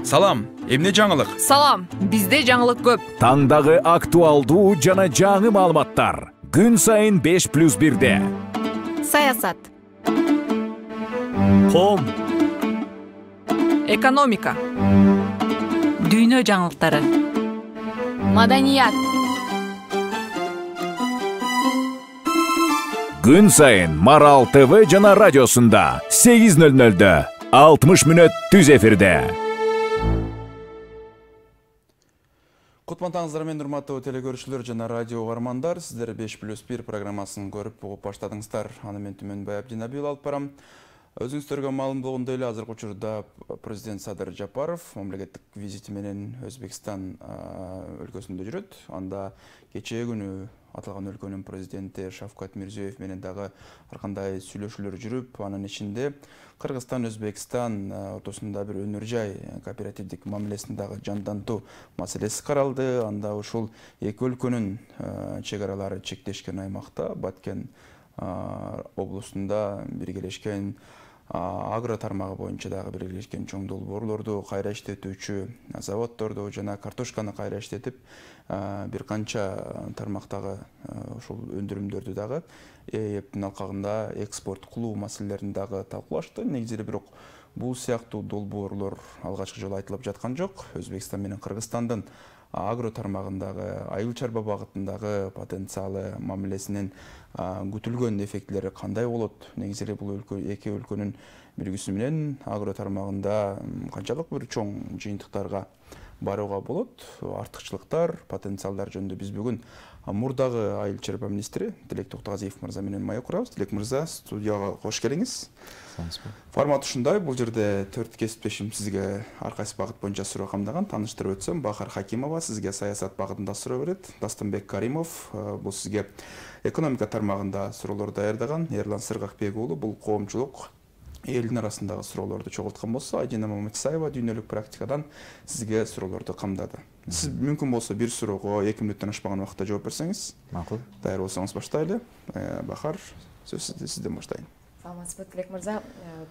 Салам, эмне жаңылык? Салам, бизде жаңылык көп. Таңдагы актуалдуу жана жаңы маалыматтар. Күн сайын 5+1-де. Саясат, Ком, экономика, Дүйнө жаңылыктары, маданият. Күн сайын Марал ТВ жана радиосунда 8:00-дө 60 мүнөт түз эфирде. Кутмантаңыздар мен урматтуу телекөрүүчүлөр жана радио угармандар, сиздер 5+1 программасын көрүп угуп баштадыңыздар. Аны мен Түмөнбай Абдинабил алып барам. Өзүңүздөргө маалым болгондой эле азыркы учурда президент Садыр Жапаров мамлекеттик визити менен Өзбекстан өлкөсүндө жүрөт. Анда кечээ күнү аталган өлкөнүн президенти Шавкат Мирзиёев менен дагы ар кандай сүйлөшүүлөр жүрүп, анын ичинде Кыргызстан, Өзбекстан ортосунда бир өнөр жай кооперативдик мамилесин дагы жандантуу маселеси каралды. Анда ушул эки өлкөнүн чек аралары чектешкен аймакта Баткен облусунда биргелешкен агро тармагы боюнча дагы биргелешкен чоң долбоорлорду кайра иштетүүчү заводдорду жана картошканы кайра иштетип бир канча тармактагы ушул өндүрүмдөрдү дагы эптин алкагында экспорт кылуу маселелерин дагы талкуулашты. Негизи бирок бул сыяктуу долбоорлор алгачкы жолу айтылып жаткан жок. Өзбекстан менен Кыргызстандын агро тармагындагы айыл чарба багытындагы потенциалы мамилесинин күтүлгөн эффектилери кандай болот? Негизи бул эки өлкөнүн биригүүсү менен агро тармагында канчалык бир чоң жыйынтыктарга барууга болот? Артыкчылыктар, потенциалдар жөнүндө биз бүгүн мурдагы айыл чарба министри Тилек Токтогазиев мырза менен маек курабыз. Тилек мырза, студияга кош келиңиз. Формат ушундай. Бул жерде 4 кесиптешим сизге ар кайсы багыт боюнча суроо камдаган. Тааныштырып өтсөм, Бахар Хакимова сизге саясат багытында суроо берет. Дастанбек Каримов бул сизге экономика тармагында суроолор даярдаган. Эрлан Сыргакбек уулу бул коомчулук элдин арасындагы суроолорду чогулткан болсо, Айдина Маматисаева дүйнөлүк практикадан сизге суроолорду камдады. Сиз мүмкүн болсо бир суроого 2 мүнөттөн ашпаган убакытта жооп берсеңиз. Макул. Даяр болсоңуз баштайлы. Бахар, сөз сизден баштайын. Саламатсызбы, Тилек мырза.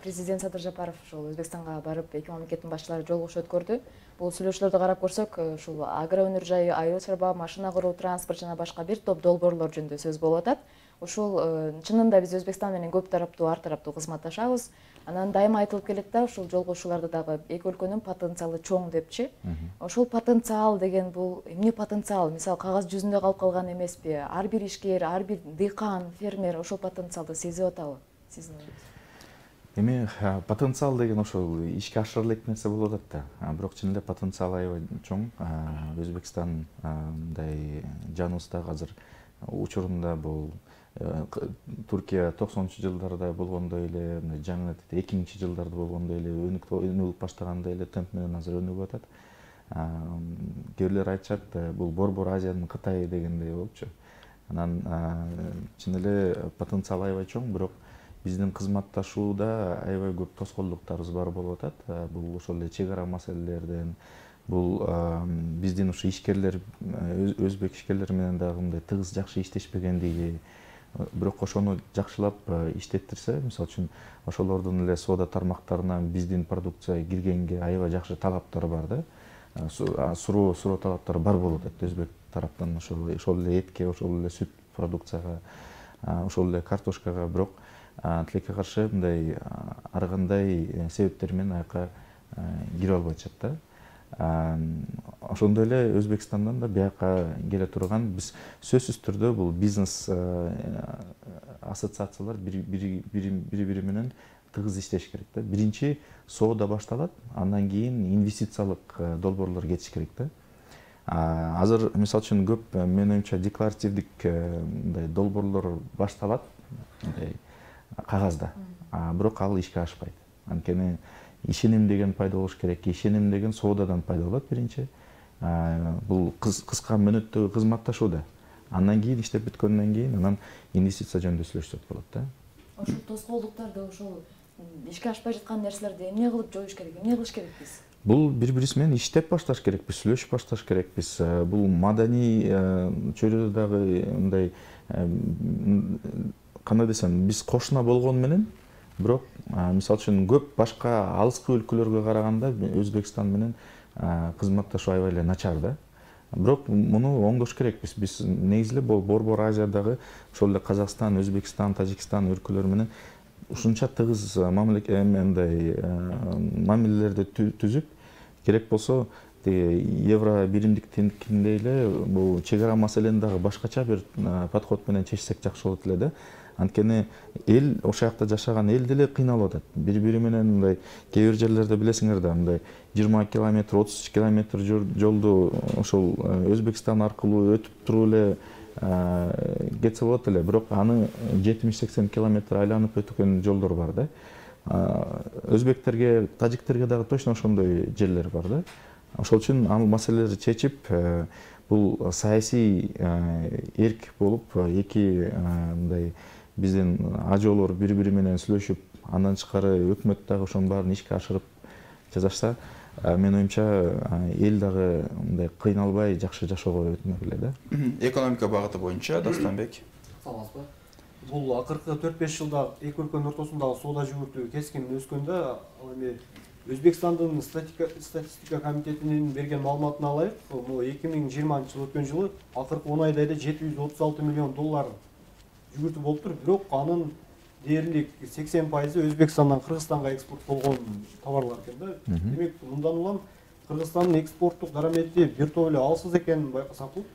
Президент Садыр Жапаров ушул Өзбекстанга барып, эки мамлекеттин башчылары жолугушуу өткөрдү. Бул сүйлөшүүлөрдү карап көрсөк, ушул агро өнөр жайы, айыл чарба, машина куруу, транспорт жана башка бир топ долбоорлор жөнүндө сөз болуп атат. Ушул чынында биз Өзбекстан менен көп тараптуу, ар тараптуу кызматташабыз. Анан дайыма айтылып келет да, ушул жолугушууларда дагы эки өлкөнүн потенциалы чоң депчи. Ошол потенциал деген бул эмне потенциал? Мисалы, кагаз жүзүндө калып калган эмеспи? Ар бир ишкер, ар бир дыйкан, фермер ошол потенциалды сезип атабы? Сиздин оюңуз? Эми потенциал деген ошол ишке ашырыла элек нерсе болуп атат да. Бирок чын эле потенциал аябай чоң. Өзбекстан мындай жаныбызда азыр учурунда бул Туркия 90-жылдарда болгондой эле, жаңы 2000-жылдарда болгондой эле өнүгүп баштагандай эле темп менен азыр өнүгүп атат. Кээ бирлер айтышат, бул Борбор Азиянын Кытайы дегендей болупчу. Анан чын эле потенциал аябай чоң, бирок биздин кызматташууда аябай көп тоскоолдуктарыбыз бар болуп атат. Бул ошол эле чек ара маселелерден, бул биздин ушу ишкерлер, өзбек ишкерлери менен дагы мындай тыгыз жакшы иштешпегендиги, бирок ошону жакшылап иштеттирсе, мисалы үчүн ошолордун эле соода тармактарынан биздин продукция киргенге аябай жакшы талаптар бар да. Суроо талаптары бар болуп атат өзбек тараптан, ошол эле этке, ошол эле сүт продукцияга, ошол эле картошкага, бирок тилекке каршы мындай ар кандай себептер менен аяка кире албай атышат да. Ошондой эле Өзбекстандан да бияка келе турган биз сөзсүз түрдө бул бизнес ассоциациялар бири менен тыгыз иштеш керек да. Биринчи соода башталат, андан кийин инвестициялык долбоорлор кетиш керек да. Азыр мисалы үчүн көп менин оюмча декларативдик мындай долбоорлор башталат кагазда, бирок ал ишке ашпайт. Анткени ишеним деген пайда болуш керек. Ишеним деген соодадан пайда болот биринчи. Бул кыска мөөнөттөгү кызматташууда. Андан кийин иштеп бүткөндөн кийин анан инвестиция жөнүндө сүйлөшсөк болот да. Ошол тоскоолдуктарды, ошол ишке ашпай жаткан нерселерди эмне кылып жоюш керек? Эмне кылыш керекпиз? Бул бири-бирибиз менен иштеп башташ керекпиз, сүйлөшүп башташ керекпиз. Бул маданий чөйрөдө дагы мындай кандай десем, биз кошуна болгону менен, бирок мисалы үчүн көп башка алыскы өлкөлөргө караганда Өзбекстан менен кызматташуу аябай эле начар да. Бирок муну оңдош керекпиз. Биз негизи эле Борбор Азиядагы ошол эле Казакстан, Өзбекстан, Тажикстан өлкөлөрү менен ушунча тыгыз мамилелерди түзүп, керек болсо евро биримдик теңдикиндей эле бул чек ара маселени дагы башкача бир подход менен чечсек жакшы болот эле да. Анткени эл, ошол жакта жашаган эл деле кыйналып атат. Бири-бири менен мындай кээ бир жерлерде билесиңер да, мындай 20 километр, 30 километр жолду ошол Өзбекстан аркылуу өтүп туруп эле кетсе болот эле, бирок аны 70-80 километр айланып өткөн жолдор бар да. Өзбектерге, тажиктерге дагы точно ошондой жерлер бар да. Ошол үчүн ал маселелерди чечип, бул саясий эрк болуп, эки мындай биздин ажоолор бири-бири менен сүйлөшүп, андан тышкары өкмөт дагы ошонун баарын ишке ашырып жасашса, менин оюмча эл дагы мындай кыйналбай жакшы жашоого өтмөк эле да. Экономика багыты боюнча Дастанбек. Саламатсызбы? Бул акыркы 4-5 жылда эки өлкөнүн ортосундагы соода жүгүртүү кескин өскөндө, ал эми Өзбекстандын статистика комитетинин берген маалыматына алайык, бул 2020 жыл өткөн жылы акыркы 10 айда эле 736 миллион доллар жүгүртүү болуптур, бирок анын дээрлик 80% Өзбекстандан Кыргызстанга экспорт болгон товарлар экен да. Демек, мындан улам Кыргызстандын экспорттук дарамети бир топ эле алсыз экенин байкасак болот.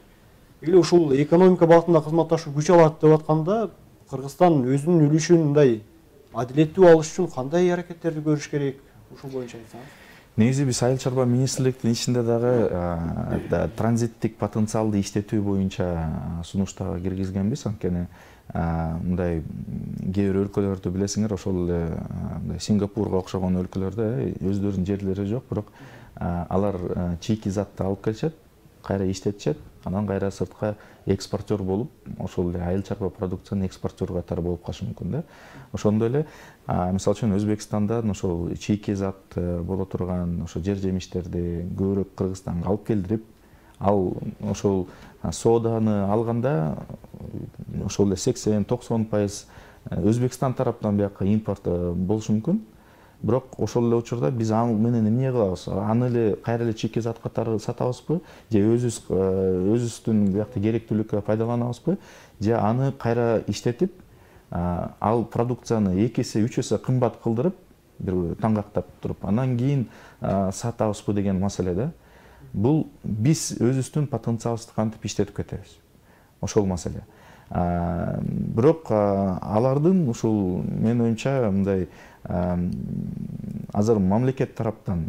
Эле ушул экономика багытында кызматташуу күч алат деп атканда, Кыргызстан өзүнүн үлүшүн мындай адилеттүү алыш үчүн кандай аракеттерди көрүш керек? Ушул боюнча айтсаңыз. Негизи биз Айыл чарба министрликтин ичинде дагы транзиттик потенциалды иштетүү боюнча сунуш дагы киргизгенбиз. Анткени мындай кээ бир өлкөлөрдү билесиңер, ошол эле Сингапурга окшогон өлкөлөрдө өздөрүнүн жерлери жок, бирок алар чийки затты алып келишет, кайра иштетишет, анан кайра сыртка экспортер болуп, ошол эле айыл чарба продукциянын экспортер катары болуп калышы мүмкүн да. Ошондой эле мисалы үчүн Өзбекстандан ошол чийки зат боло турган ошо жер жемиштерди көбүрөөк Кыргызстанга алып келдирип, ал ошол сооданы алганда ошол эле 80-90% Өзбекстан тараптан бияка импорт болушу мүмкүн. Бирок ошол эле учурда биз аны менен эмне кылабыз? Аны эле кайра эле чийки зат катары сатабызбы? Же өзүбүздүн биякта керектүүлүккө пайдаланабызбы? Же аны кайра иштетип, ал продукцияны 2 эсе 3 эсе кымбат кылдырып, бир таңгактап туруп, андан кийин сатабызбы деген маселе да. Бул биз өзүбүздүн потенциалыбызды кантип иштетип кетебиз? Ошол маселе. Бирок алардын ушул менин оюмча мындай азыр мамлекет тараптан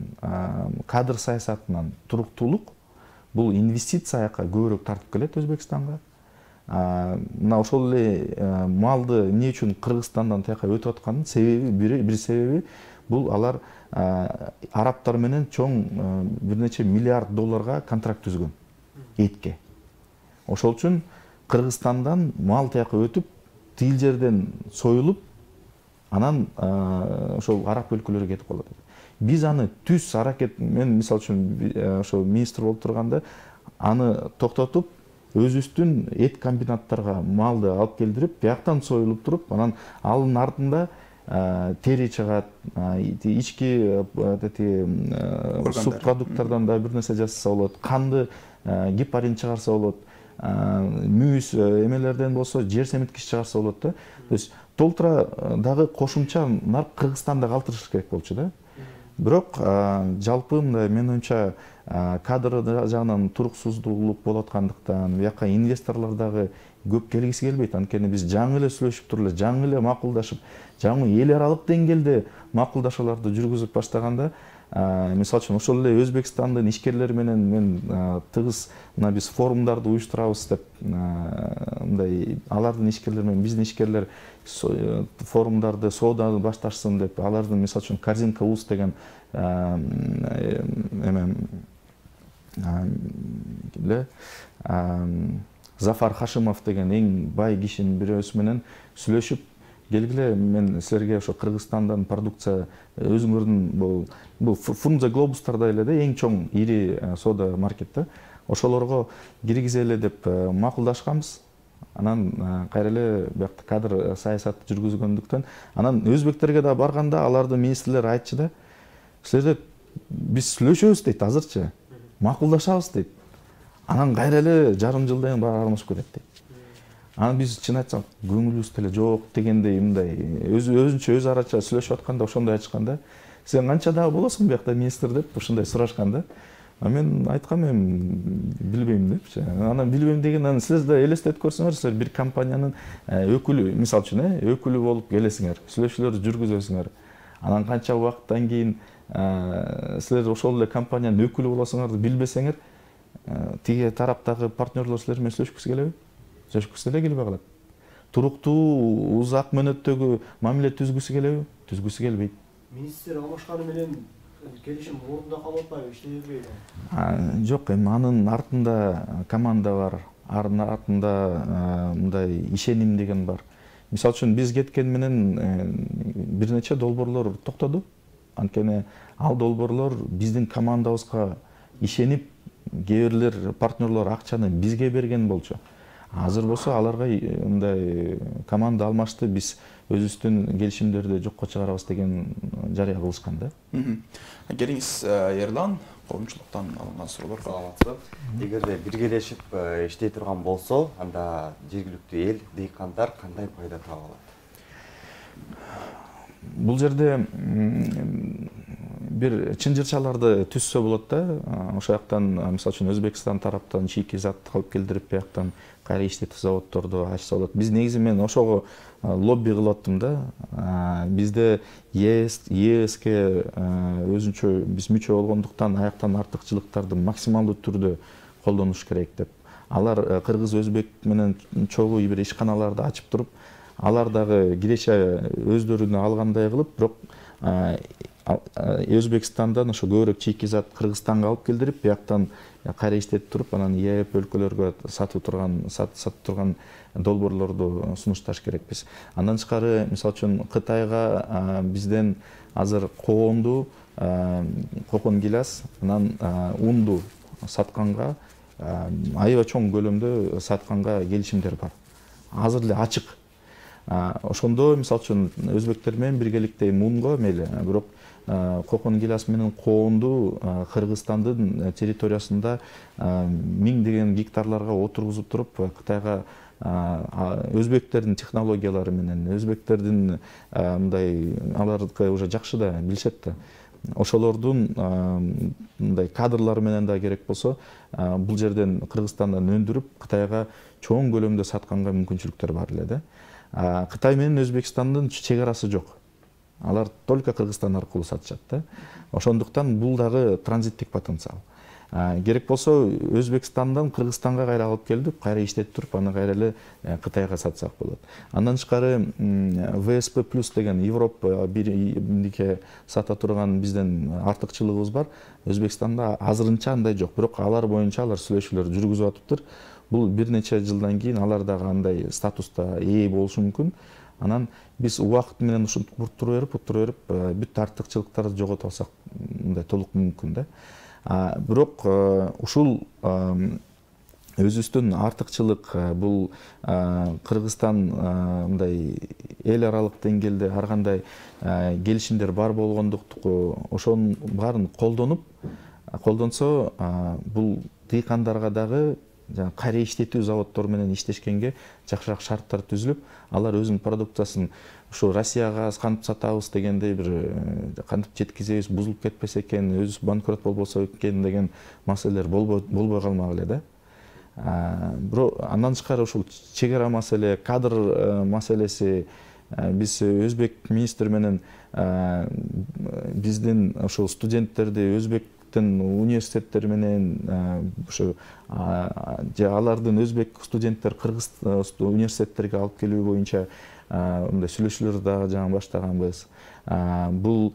кадр саясатынан туруктуулук, бул инвестиция аяка көбүрөөк тартып келет Өзбекстанга. Мына ошол эле малды эмне үчүн Кыргызстандан тияка өтүп атканын себеби, бир себеби бул алар арабтар менен чоң бир нече миллиард долларга контракт түзгөн этке. Ошол үчүн Кыргызстандан мал тияка өтүп, тигил жерден союлуп, анан ошол араб өлкөлөрүгө кетип калат. Биз аны түз аракет, мен мисалы үчүн ошо министр болуп турганда аны токтотуп, өзүбүздүн эт комбинаттарга малды алып келдирип, бияктан союлуп туруп, анан алын артында тери чыгат, ички субпродукттардан да бир нерсе жасаса болот, канды гепарин чыгарса болот, мүйүз эмелерден болсо жер семиткич чыгарса болот да. То есть толтура дагы кошумча нарк Кыргызстанда калтырыш керек болчу да. Бирок жалпы мындай менин оюмча кадр жагынан туруксуздуулук болуп аткандыктан, бияка инвесторлор дагы көп келгиси келбейт. Анткени биз жаңы эле сүйлөшүп туруп эле, жаңы эле макулдашып, жаңы эл аралык деңгээлде макулдашууларды жүргүзүп баштаганда, мисалы үчүн ошол эле Өзбекстандын ишкерлери менен мен тыгыз мына биз форумдарды уюштурабыз деп, мындай алардын ишкерлери менен биздин ишкерлер форумдарды, сооданы башташсын деп, алардын мисалы үчүн Корзинка УЗ деген Зафар Хашимов деген эң бай кишинин бирөөсү менен сүйлөшүп, келгиле, мен силерге ошо Кыргызстандан продукция өзүңөрдүн бул Фрунзе глобустарда эле да эң чоң ири соода маркет да. Ошолорго киргизели деп макулдашканбыз. Анан кайра эле биякта кадр саясатты жүргүзгөндүктөн анан өзбектерге да барганда алардын министрлери айтчу да, силерде биз сүйлөшөбүз дейт, азырчы макулдашабыз дейт. Анан кайра эле жарым жылдан кийин баары алмашып кетет дейт. Анан биз чын айтсак көңүлүбүз деле жок дегендей мындай өзүнчө өз арача сүйлөшүп атканда ошондой айтканда, сен канча дагы болосуң биякта министр деп ушундай сурашканда, мен айткам билбейм депчи. Анан билбейм дегенден сиз да элестетип көрсөңөр, силер бир компаниянын өкүлү, мисалы үчүн, өкүлү болуп келесиңер, сүйлөшүүлөрдү жүргүзөсүңөр. Анан канча убакыттан кийин силер ошол эле компаниянын өкүлү болосуңарды билбесеңер, тиги тараптагы партнерлор силер менен сүйлөшкүсү келеби? Сүйлөшкүсү деле келбей калат. Туруктуу, узак мөөнөттөгү мамиле түзгүсү келеби? Түзгүсү келбейт. Министр алмашканы менен келишим орунда калып атпайбы, иштей бербейби? Жок, анын артында команда бар, артында мындай ишеним деген бар. Мисалы үчүн биз кеткен менен бир нече долбоорлор токтоду. Анткени ал долбоорлор биздин командабызга ишенип, кээ бирлер партнерлор акчаны бизге берген болчу. Азыр болсо аларга мындай команда алмашты, биз өзүбүздүн келишимдерди жокко чыгарабыз деген жарыя кылышкан да. Келиңиз, Ерлан, коомчулуктан алынган суроолор. Саламатсызбы. Эгерде биргелешип иштей турган болсо, анда жергиликтүү эл, дыйкандар кандай пайда таба алат? Бул жерде бир чынжырчаларды түзсө болот да. Ошол жактан, мисалы үчүн Өзбекстан тараптан чийки зат алып келдирип, бияктан кайра иштетүү заводдорду ачса болот. Биз негизи мен ошого лобби кылып аттым да. Бизде ЕСке өзүнчө биз мүчө болгондуктан аяктан артыкчылыктарды максималдуу түрдө колдонуш керек деп. Алар кыргыз, өзбек менен чогуу бир ишканаларды ачып туруп, алар дагы киреше өздөрүнө алгандай кылып, бирок Өзбекстандан ошо көбүрөөк чийки зат Кыргызстанга алып келдирип, бияктан кайра иштетип туруп, анан ЕЭП өлкөлөргө сатып турган долбоорлорду сунушташ керекпиз. Андан тышкары, мисалы үчүн Кытайга бизден азыр коонду, кокон гилас, анан унду сатканга, аябай чоң көлөмдө сатканга келишимдер бар. Азыр эле ачык. Ошондо, мисалы үчүн, өзбектер менен биргеликте унго мейли, бирок кокон гилас менен коонду Кыргызстандын территориясында миңдеген гектарларга отургузуп туруп, Кытайга өзбектердин технологиялары менен, өзбектердин мындай алардыкы уже жакшы да билишет да. Ошолордун мындай кадрлары менен да керек болсо, бул жерден Кыргызстандан өндүрүп, Кытайга чоң көлөмдө сатканга мүмкүнчүлүктөр бар эле да. Кытай менен Өзбекстандын чек арасы жок. Алар только Кыргызстан аркылуу сатышат да. Ошондуктан бул дагы транзиттик потенциал. Керек болсо Өзбекстандан Кыргызстанга кайра алып келип, кайра иштетип туруп, аны кайра эле Кытайга сатсак болот. Андан тышкары ВСП+ деген Европа бирдикке сата турган бизден артыкчылыгыбыз бар. Өзбекстанда азырынча андай жок, бирок алар боюнча алар сүйлөшүүлөр жүргүзүп атыптыр. Бул бир нече жылдан кийин алар дагы андай статуста ээ болушу мүмкүн. Анан биз убакыт менен ушинтип уттура берип, бүт артыкчылыктарды жогото алсак, мындай толук мүмкүн да. Бирок ушул өзүбүздүн артыкчылык бул Кыргызстан мындай эл аралык деңгээлде ар кандай келишимдер бар болгондуктан ошонун баарын колдонсо, бул дыйкандарга дагы кайра иштетүү заводдору менен иштешкенге жакшыраак шарттар түзүлүп, алар өзүнүн продукциясын ушу Россияга кантип сатабыз дегендей бир кантип жеткизебиз, бузулуп кетпесе экен, өзүбүз банкрот болбосо экен деген маселелер болбой калмак эле да. Бирок андан тышкары ушул чек ара маселе, кадр маселеси, биз өзбек министр менен биздин ушул студенттерди өзбектин университеттери менен ушу алардын өзбек студенттер кыргыз университеттерге алып келүү боюнча мындай сүйлөшүүлөрдү дагы жаңы баштаганбыз. Бул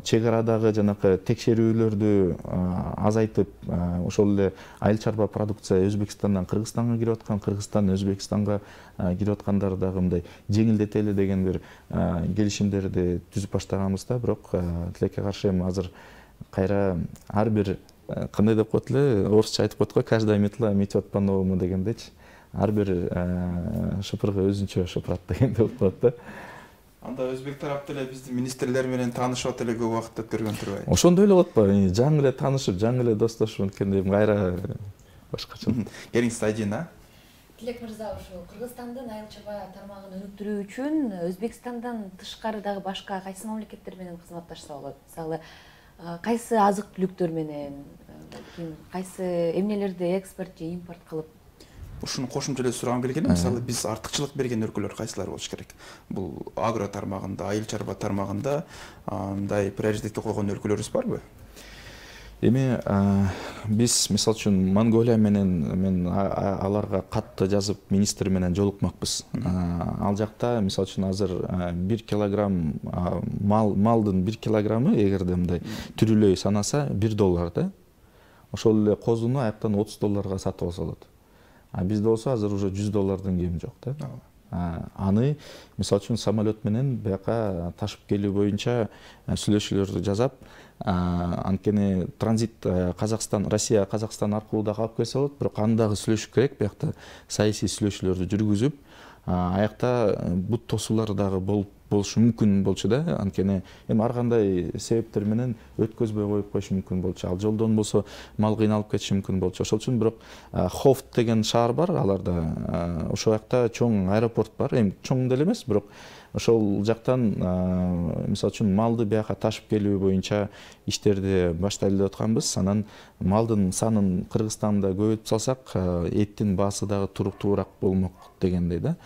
чек арадагы жанакы текшерүүлөрдү азайтып, ошол эле айыл чарба продукция Өзбекстандан Кыргызстанга кирип аткан, Кыргызстан Өзбекстанга кирип аткандарды дагы мындай жеңилдетели деген бир келишимдерди түзүп баштаганбыз да. Бирок тилекке каршы эми азыр кайра ар бир кандай деп коет эле, орусча айтып коет го, каждая метла метет по-новому дегендечи. ар бир шыпырга өзүнчө шыпырат дегенде болот да. Анда өзбек тарап деле биздин министрлер менен таанышып эле көп убакыт өткөргөн турбайбы? Ошондой эле болот атпайбы? Жаңы эле таанышып, жаңы эле достошуп анткени кайра башкача. Келиңиз Айдина. Тилек мырза, ушу Кыргызстандын айыл чарба тармагын өнүктүрүү үчүн Өзбекстандан тышкары дагы башка кайсы мамлекеттер менен кызматташса болот? Мисалы, кайсы азык-түлүктөр менен, кайсы эмнелерди экспорт же импорт кылып? Ушуну кошумча эле сурагым келген. Мисалы, биз артыкчылык берген өлкөлөр кайсылар болуш керек? Бул агро тармагында, айыл чарба тармагында мындай приоритетке койгон өлкөлөрүбүз барбы? Эми биз мисалы үчүн Монголия менен мен аларга катты жазып министр менен жолукмакпыз. Ал жакта мисалы үчүн азыр 1 килограмм малдын 1 килограммы эгерде мындай түрүлөй санаса $1 да. Ошол эле козуну аяктан $30 сатып алса болот. А бизде болсо азыр уже $100 кеми жок да. Аны мисалы үчүн самолет менен бияка ташып келүү боюнча сүйлөшүүлөрдү жасап, анткени транзит Казакстан, Россия, Казакстан аркылуу дагы алып келсе болот, бирок аны дагы сүйлөшүш керек. Биякта саясий сүйлөшүүлөрдү жүргүзүп, аякта бут тосуулар дагы болушу мүмкүн болчу да. Анткени эми ар кандай себептер менен өткөзбөй коюп коюшу мүмкүн болчу. Ал жолдон болсо мал кыйналып кетиши мүмкүн болчу. Ошол үчүн бирок Хофт деген шаар бар, аларда ошол жакта чоң аэропорт бар. Эми чоң деле эмес, бирок ошол жактан мисалы үчүн малды бияка ташып келүү боюнча иштерди баштайлы деп атканбыз. Анан малдын санын Кыргызстанда көбөйтүп салсак, эттин баасы дагы туруктуураак болмок дегендей да.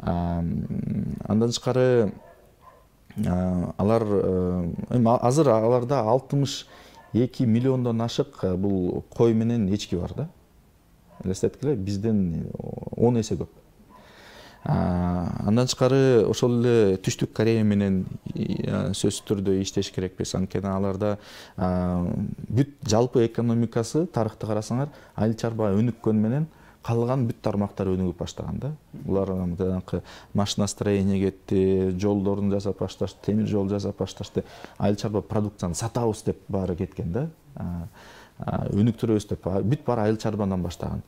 Андан тышкары алар эми азыр аларда 62 миллиондон ашык бул кой менен эчки бар да. Элестеткиле, бизден 10 эсе көп. Андан тышкары ошол эле Түштүк Корея менен сөзсүз түрдө иштеш керекпиз. Анткени аларда бүт жалпы экономикасы тарыхты карасаңар, айыл чарба өнүккөн менен калган бүт тармактар өнүгүп баштаган да. Булар жанакы машиностроение кетти, жолдорун жасап башташты, темир жол жасап башташты. Айыл чарба продукцияны сатабыз деп баары кеткен да. Өнүктүрөбүз деп бүт баары айыл чарбадан баштаган.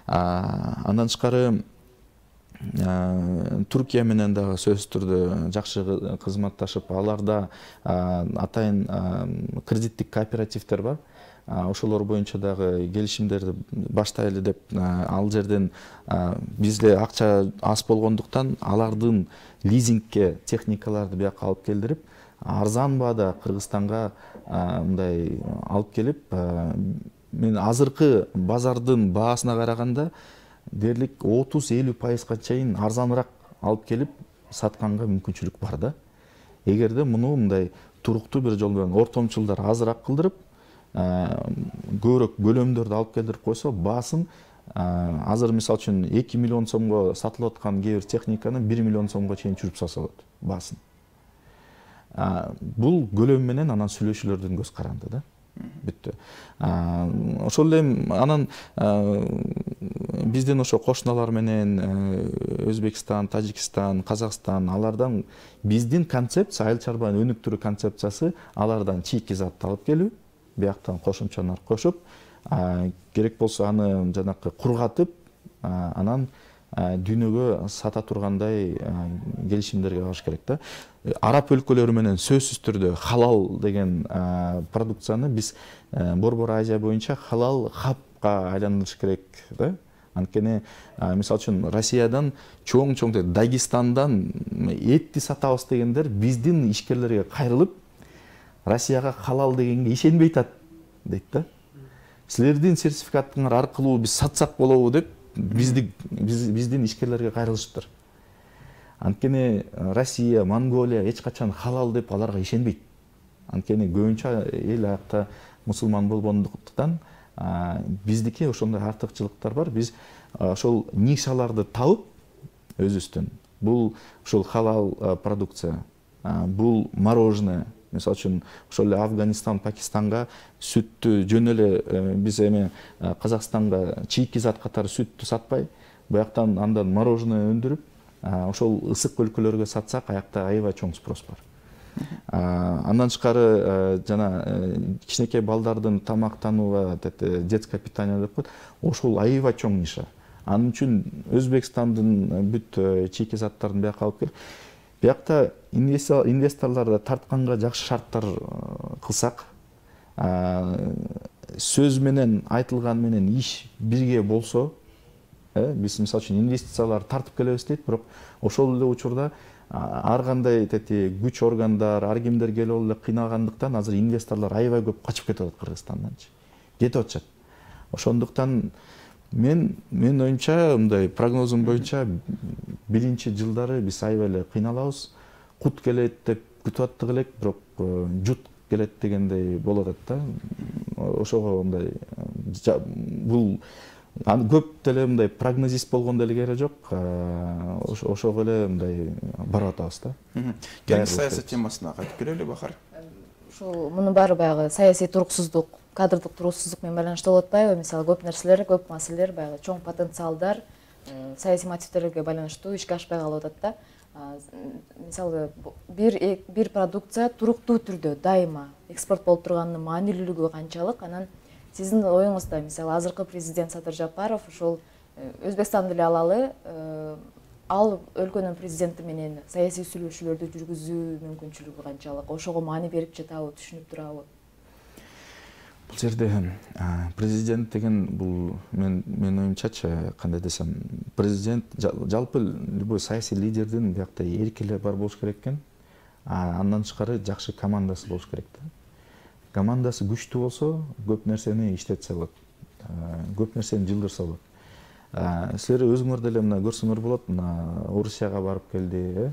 Андан тышкары Туркия менен дагы сөзсүз түрдө жакшы кызматташып, аларда атайын кредиттик кооперативдер бар. Ошолор боюнча дагы келишимдерди баштайлы деп, ал жерден бизде акча аз болгондуктан алардын лизингке техникаларды бияка алып келдирип, арзан баада Кыргызстанга мындай алып келип, мен азыркы базардын баасына караганда дерлик 30-50% чейин арзаныраак алып келип сатканга мүмкүнчүлүк бар да. Эгерде муну мындай туруктуу бир жол менен ортомчулдар азыраак кылдырып, көбүрөөк көлөмдөрдү алып келдирип койсо, баасын азыр мисалы үчүн 2 миллион сомго сатылып аткан кээ бир техниканы 1 миллион сомго чейин түшүрүп салса болот баасын. Бул көлөм менен анан сүйлөшүүлөрдүн көз каранды да. Бүттү. Ошол эле анан биздин ошо кошуналар менен Өзбекстан, Тажикстан, Казакстан, алардан биздин концепция, айыл чарбаны өнүктүрүү концепциясы алардан чийки затты алып келүү, бияктан кошумчалар кошуп, керек болсо аны жанакы кургатып, анан дүйнөгө сата тургандай келишимдерге барыш керек да. Араб өлкөлөрү менен сөзсүз түрдө халал деген продукцияны биз Борбор Азия боюнча халал хабга айландырыш керек да. Анткени мисалы үчүн Россиядан чоң Дагестандан этти сатабыз дегендер биздин ишкерлерге кайрылып, Россияга халал дегенге ишенбей атат дейт да. Силердин сертификатыңар аркылуу биз сатсак болобу деп биздин ишкерлерге кайрылышыптыр. Анткени Россия, Монголия эч качан халал деп аларга ишенбейт. Анткени көбүнчө эл аякта мусулман болгондуктан биздики ошондой артыкчылыктар бар. Биз ошол нишаларды табып өзүбүздөн, бул ошол халал продукция, бул мороженое, мисалы үчүн ошол эле Афганистан, Пакистанга сүттү жөн эле биз эми Казакстанга чийки зат катары сүттү сатпай, буяктан андан мороженое өндүрүп, ошол ысык өлкөлөргө сатсак, аякта аябай чоң спрос бар. Андан тышкары жана кичинекей балдардын тамактанууга детское питание деп коет. Ошол аябай чоң ниша. Анын үчүн Өзбекстандын бүт чийки заттарын бияка алып келип, биякта инвесторлорду тартканга жакшы шарттар кылсак, сөз менен айтылган менен иш бирге болсо, биз мисалы үчүн инвестициялар тартып келебиз дейт, бирок ошол эле учурда ар кандай күч органдар, ар кимдер келип эле кыйнагандыктан азыр инвесторлор аябай көп качып кетип атат Кыргызстанданчы. Кетип атышат. Ошондуктан мен оюмча, мындай прогнозум боюнча, биринчи жылдары биз аябай эле кыйналабыз. Кут келет деп күтүп аттык элек, бирок жут келет дегендей болуп атат да. Ошого мындай бул көп деле мындай прогнозист болгон деле керек жок. Ошого эле мындай барып атабыз да. Кийинки саясат темасына кайтып келели Бахар. Ушул мунун баары баягы саясий туруксуздук, кадрдык туруксуздук менен байланыштуу болуп атпайбы? Мисалы көп нерселер, көп маселелер баягы чоң потенциалдар саясий мотивтерге байланыштуу ишке ашпай калып атат да. Мисалы бир продукция туруктуу түрдө дайыма экспорт болуп турганынын маанилүүлүгү канчалык? Анан сиздин оюңузда, мисалы азыркы президент Садыр Жапаров ушул Өзбекстанды эле алалы, ал өлкөнүн президенти менен саясий сүйлөшүүлөрдү жүргүзүү мүмкүнчүлүгү канчалык? Ошого маани берип жатабы, түшүнүп турабы? Бул жерде президент деген бул мен оюмчачы, кандай десем, президент жалпы любой саясий лидердин биякта эркине бар болуш керек экен. Андан тышкары жакшы командасы болуш керек да. Командасы күчтүү болсо, көп нерсени иштетсе болот. Көп нерсени жылдырса болот. Силер өзүңөр деле мына көрсөңөр болот, мына Орусияга барып келди,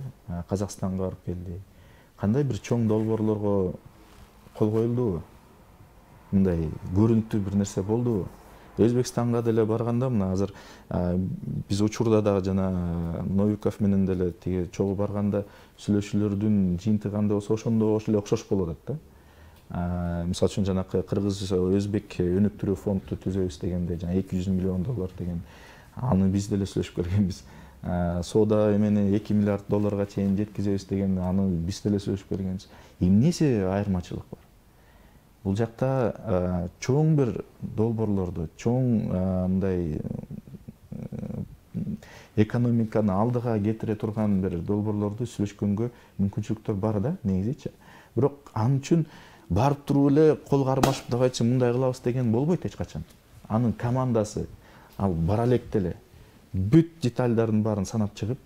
Казакстанга барып келди. Кандай бир чоң долбоорлорго кол коюлдубу? Мындай көрүнүктүү бир нерсе болдубу? Өзбекстанга деле барганда, мына азыр биз учурда дагы жана Новиков менен деле тиги чогуу барганда сүйлөшүүлөрдүн жыйынтыгы кандай болсо, ошондо эле окшош болуп атат да. Мисалы үчүн жанакы Кыргыз-Өзбек өнүктүрүү фонду түзөбүз дегенде, жана $200 миллион деген, аны биз деле сүйлөшүп келгенбиз. Соода эмени $2 миллиард чейин жеткизебиз дегенде, аны биз деле сүйлөшүп келгенбиз. Эмнеси айырмачылык бар? Бул жакта чоң бир долбоорлорду, чоң мындай экономиканы алдыга кетире турган бир долбоорлорду сүйлөшкөнгө мүмкүнчүлүктөр бар да, негизичи. Бирок анын үчүн барып туруп эле кол кармашып, давайте мындай кылабыз деген болбойт эч качан. Анын командасы ал бара электе эле бүт детальдардын баарын санап чыгып,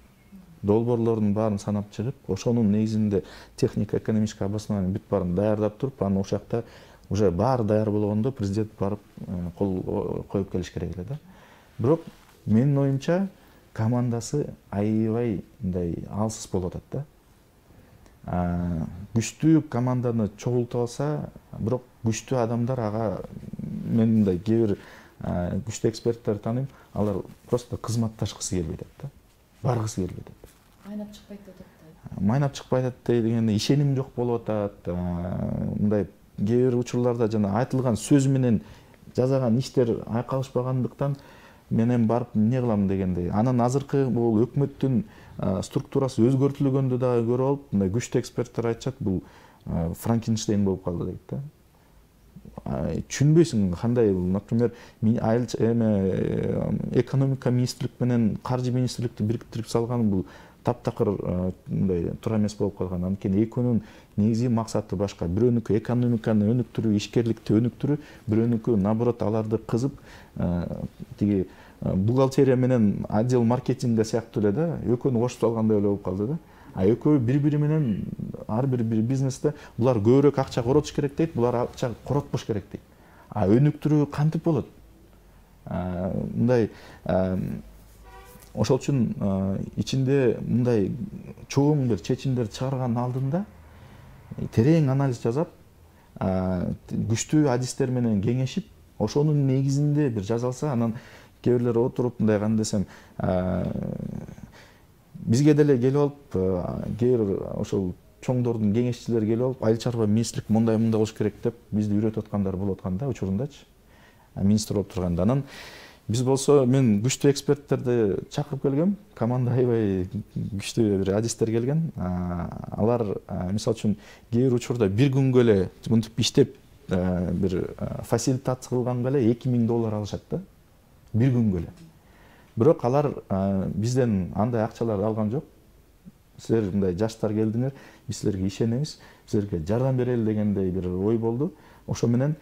долбоорлордун баарын санап чыгып, ошонун негизинде технико экономический обоснование бүт баарын даярдап туруп, анан ошол жакта уже баары даяр болгондо президент барып кол коюп келиш керек эле да. Бирок менин оюмча командасы аябай мындай алсыз болуп атат да. Күчтүү команданы чогултуп алса, бирок күчтүү адамдар ага мен мындай кээ бир күчтүү эксперттерди тааныйм, алар просто кызматташкысы келбей атат да. Баргысы келбей атат. Майнап чыкпайт деп атат. Майнап чыкпайт дегенде ишеним жок болуп атат. Мындай кээ бир учурларда жана айтылган сөз менен жасаган иштер айкалышпагандыктан менен барып эмне кылам дегендей. Анан азыркы бул өкмөттүн структурасы өзгөртүлгөндө дагы көрүп алып, мындай күчтүү эксперттер айтышат, бул Франкенштейн болуп калды дейт да. Түшүнбөйсүң кандай, например, экономика министрлик менен каржы министрликти бириктирип салган бул таптакыр мындай туура эмес болуп калган. Анткени экөөнүн негизги максаты башка. Бирөөнүкү экономиканы өнүктүрүү, ишкерликти өнүктүрүү, бирөөнүкү наоборот аларды кызып, тиги бухгалтерия менен отдел маркетинга сыяктуу эле да, экөөнү кошуп салгандай эле болуп калды да. Экөө бири-бири менен ар бир бизнесте булар көбүрөөк акча коротуш керек дейт, булар акча коротпош керек дейт. Өнүктүрүү кантип болот? Мындай ошол үчүн ичинде мындай чоң бир чечимдер чыгарганын алдында терең анализ жасап, күчтүү адистер менен кеңешип, ошонун негизинде бир жасалса, анан кээ бирлер отуруп мындай кандай десем, бизге деле келип алып, кээ бир ошол чоңдордун кеңешчилери келип алып, айыл чарба министрлик мындай болуш керек деп бизди үйрөтүп аткандар болуп аткан да, учурундачы. Министр болуп турганда. Анан биз болсо, мен күчтүү эксперттерди чакырып келгем, команда аябай күчтүү бир адистер келген. Алар мисалы үчүн кээ бир учурда бир күнгө эле мынтип иштеп, бир фасилитация кылганга эле $2000 алышат да. Бир күнгө эле. бирок алар бизден андай акчаларды алган жок. Силер мындай жаштар келдиңер, биз силерге ишенебиз, силерге жардам берели дегендей бир ой болду. Ошо менен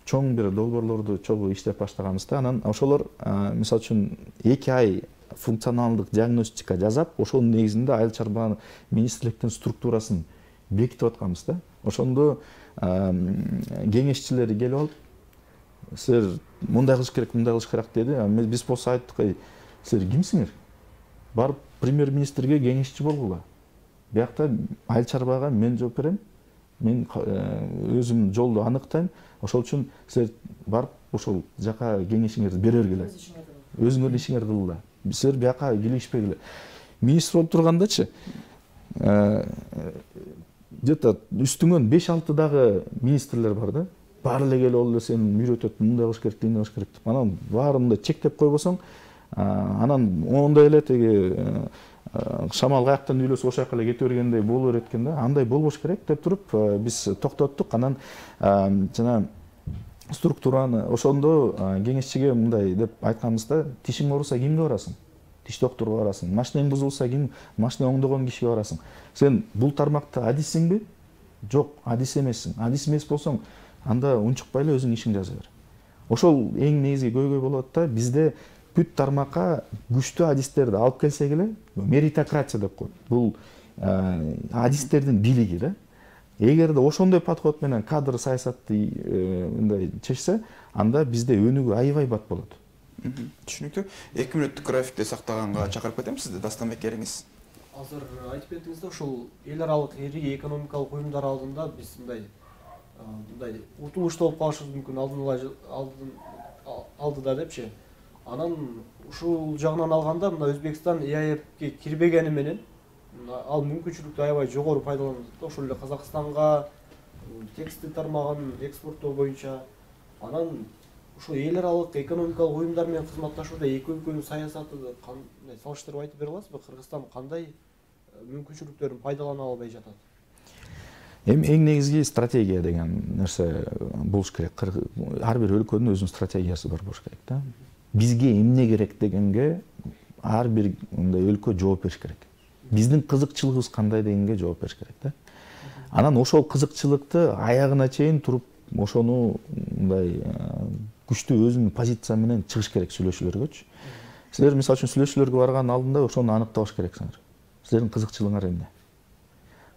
чоң бир долбоорлорду чогуу иштеп баштаганбыз да. Анан ошолор мисалы үчүн 2 ай функционалдык диагностика жасап, ошонун негизинде айыл чарба министрликтин структурасын бекитип атканбыз да. Ошондо кеңешчилери келип алып, силер мындай кылыш керек, мындай кылыш керек деди. Биз болсо айттык, силер кимсиңер? Барып премьер-министрге кеңешчи болгула. Биякта айыл чарбага мен жооп берем. Мен өзүм жолду аныктайм. Ошол үчүн силер барып ошол жака кеңешиңерди бере бергиле. Өзүңөрдүн ишиңерди кылгыла. Силер бияка келишпегиле. Министр болуп тургандачы где-то үстүңөн 5-6 дагы министрлер бар да. Баары эле келип алып сени үйрөтөт, мындай кылыш керек, мындай кылыш керек деп. Анан баарында чектеп койбосоң, анан ондай эле теги шамал каяктан үйлөсө ошол жака эле кете бергендей боло берет экен да. Андай болбош керек деп туруп биз токтоттук. Анан жана структураны ошондо кеңешчиге мындай деп айтканбызда, тишиң ооруса кимге барасың? Тиш докторго барасың. Машинең бузулса ким? Машина оңдогон кишиге барасың. Сен бул тармакта адиссиңби? Жок, адис эмессиң. Адис эмес болсоң, анда унчукпай эле өзүң ишиңди жаза бер. Ошол эң негизги көйгөй болот да. Бизде бүт тармакка күчтүү адистерди алып келсек эле, меритократия деп коет. Бул адистердин бийлиги да. Эгерде ошондой подход менен кадр саясатты мындай чечсе, анда бизде өнүгүү аябай бат болот. Түшүнүктүү. 2 мүнөттүк графикти сактаганга чакырып кетем сизди, Дастанбек Кериңиз. Азыр айтып кеттиңиз, ошол эл аралык ири экономикалык уюмдар алдында биз мындай утулуштуу болуп калышыбыз мүмкүн алдыда депчи. Анан ушул жагынан алганда мына Өзбекстан ЕАЭПке кирбегени менен ал мүмкүнчүлүктү аябай жогору пайдаланып, ошол эле Казакстанга текстиль тармагын экспорттоо боюнча. Анан ошо эл аралык экономикалык уюмдар менен кызматташууда эки өлкөнүн саясаты кандай салыштырып айтып бере аласызбы? Кыргызстан кандай мүмкүнчүлүктөрүн пайдалана албай жатат? Эми эң негизги стратегия деген нерсе болуш керек. Ар бир өлкөнүн өзүнүн стратегиясы бар болуш керек да. Бизге эмне керек дегенге ар бир мындай өлкө жооп бериш керек. Биздин кызыкчылыгыбыз кандай дегенге жооп бериш керек да. Анан ошол кызыкчылыкты аягына чейин туруп, ошону мындай күчтүү өзүнүн позиция менен чыгыш керек сүйлөшүүлөргөчү. Силер мисалы үчүн сүйлөшүүлөргө барган алдында ошону аныктабаш керексиңер. Силердин кызыкчылыгыңар эмне?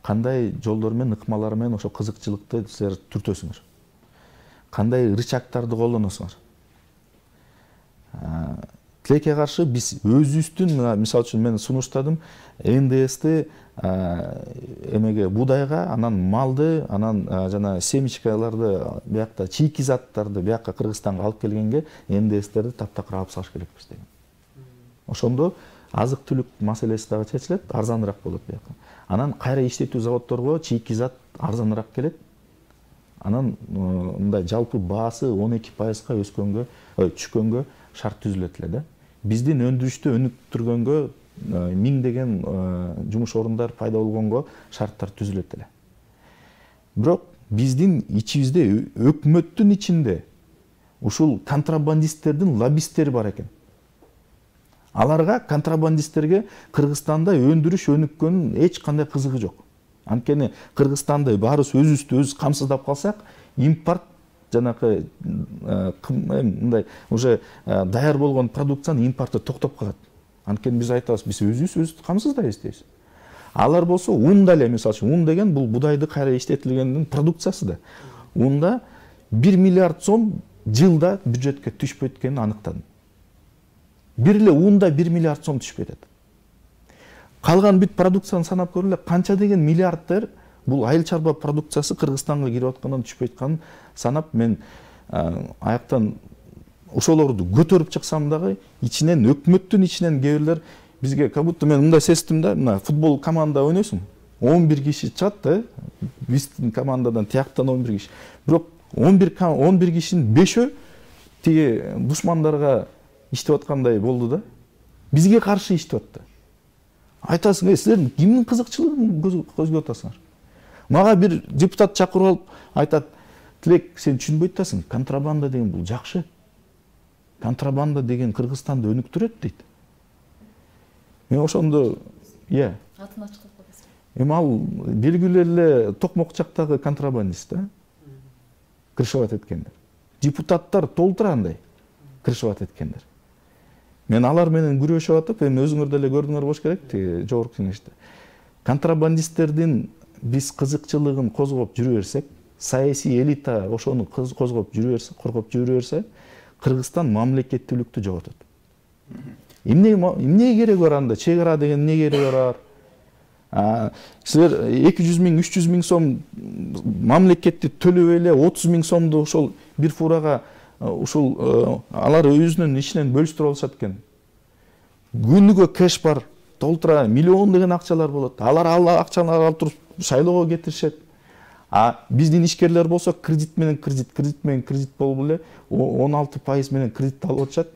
Кандай жолдор менен, ыкмалар менен ошо кызыкчылыкты силер түртөсүңөр? Кандай рычагтарды колдоносуңар? Тилекке каршы биз өзүбүздүн, мисалы үчүн мен сунуштадым, НДСти эмеге будайга, анан малды, анан жана семечкаларды, биякта чийки заттарды биякка Кыргызстанга алып келгенге НДСтерди таптакыр алып салыш керекпиз деген. Ошондо азык түлүк маселеси дагы чечилет, арзаныраак болот биякка. Анан кайра иштетүү заводдорго чийки зат арзаныраак келет. Анан мындай жалпы баасы 12%га өскөнгө, түшкөнгө шарт түзүлөт эле да. Биздин өндүрүштү өнүктүргөнгө миңдеген жумуш орундар пайда болгонго шарттар түзүлөт эле. Бирок биздин ичибизде, өкмөттүн ичинде ушул контрабандисттердин лоббисттери бар экен. Аларга, контрабандисттерге Кыргызстанда өндүрүш өнүккөнүн эч кандай кызыгы жок. Анткени Кыргызстанды баарыбыз өзүбүздү өзүбүз камсыздап калсак, импорт жанакы мындай уже даяр болгон продукцияны импорты токтоп калат. Анткени биз айтабыз, биз өзүбүз камсыздайбыз дейбиз. Алар болсо унда эле, мисалы үчүн, ун деген бул будайды кайра иштетилгендин продукциясы да. Унда 1 миллиард сом жылда бюджетке түшпөйт экенин аныктадым. Бир эле унда 1 миллиард сом түшүп кетет. Калган бүт продукцияны санап көрүлө, канча деген миллиардтер бул айыл чарба продукциясы Кыргызстанга кирип аткандан түшпөй атканын санап, мен аяктан ошолорду көтөрүп чыксам дагы, ичинен өкмөттүн ичинен кээ бирлер бизге как будто мен мындай сездим да, мына футбол команда ойнойсуң, 11 киши чыгат да, биздин командадан тияктан 11 киши. Бирок 11 кишинин 5-өө тиги душмандарга иштеп аткандай болду да. Бизге каршы иштеп атты. Айтасың, силер кимдин кызыкчылыгын көзгөп атасыңар? Мага бир депутат чакырып алып айтат, Тилек, сен түшүнбөй атасың, контрабанда деген бул жакшы. контрабанда деген Кыргызстанды өнүктүрөт дейт. Мен ошондо атын ачык кылып койсоң. Эми ал белгилүү эле Токмок жактагы контрабандист да. Крышевать эткендер. Депутаттар толтура андай крышевать эткендер. Мен алар менен күрөшүп атып, эми өзүңөр деле көрдүңөр болуш керек жогорку кеңеште. Контрабандисттердин биз кызыкчылыгын козгоп жүрө берсек, саясий элита ошону козгоп жүрө берсе, коргоп жүрө берсе, Кыргызстан мамлекеттүүлүктү жоготот. Эмне кереги бар анда? Чек ара деген эмне кереги бар? Силер 200 миң, 300 миң сом мамлекетти төлөп эле 30 миң сомду ошол бир фурага ушул алар өзүнүн ичинен бөлүштүрүп алышат экен. Күнүгө кэш бар, толтура миллиондогон акчалар болот. Алар акчаларды алып туруп шайлоого кетиришет. Биздин ишкерлер болсо кредит менен кредит болуп эле 16% менен кредит алып атышат.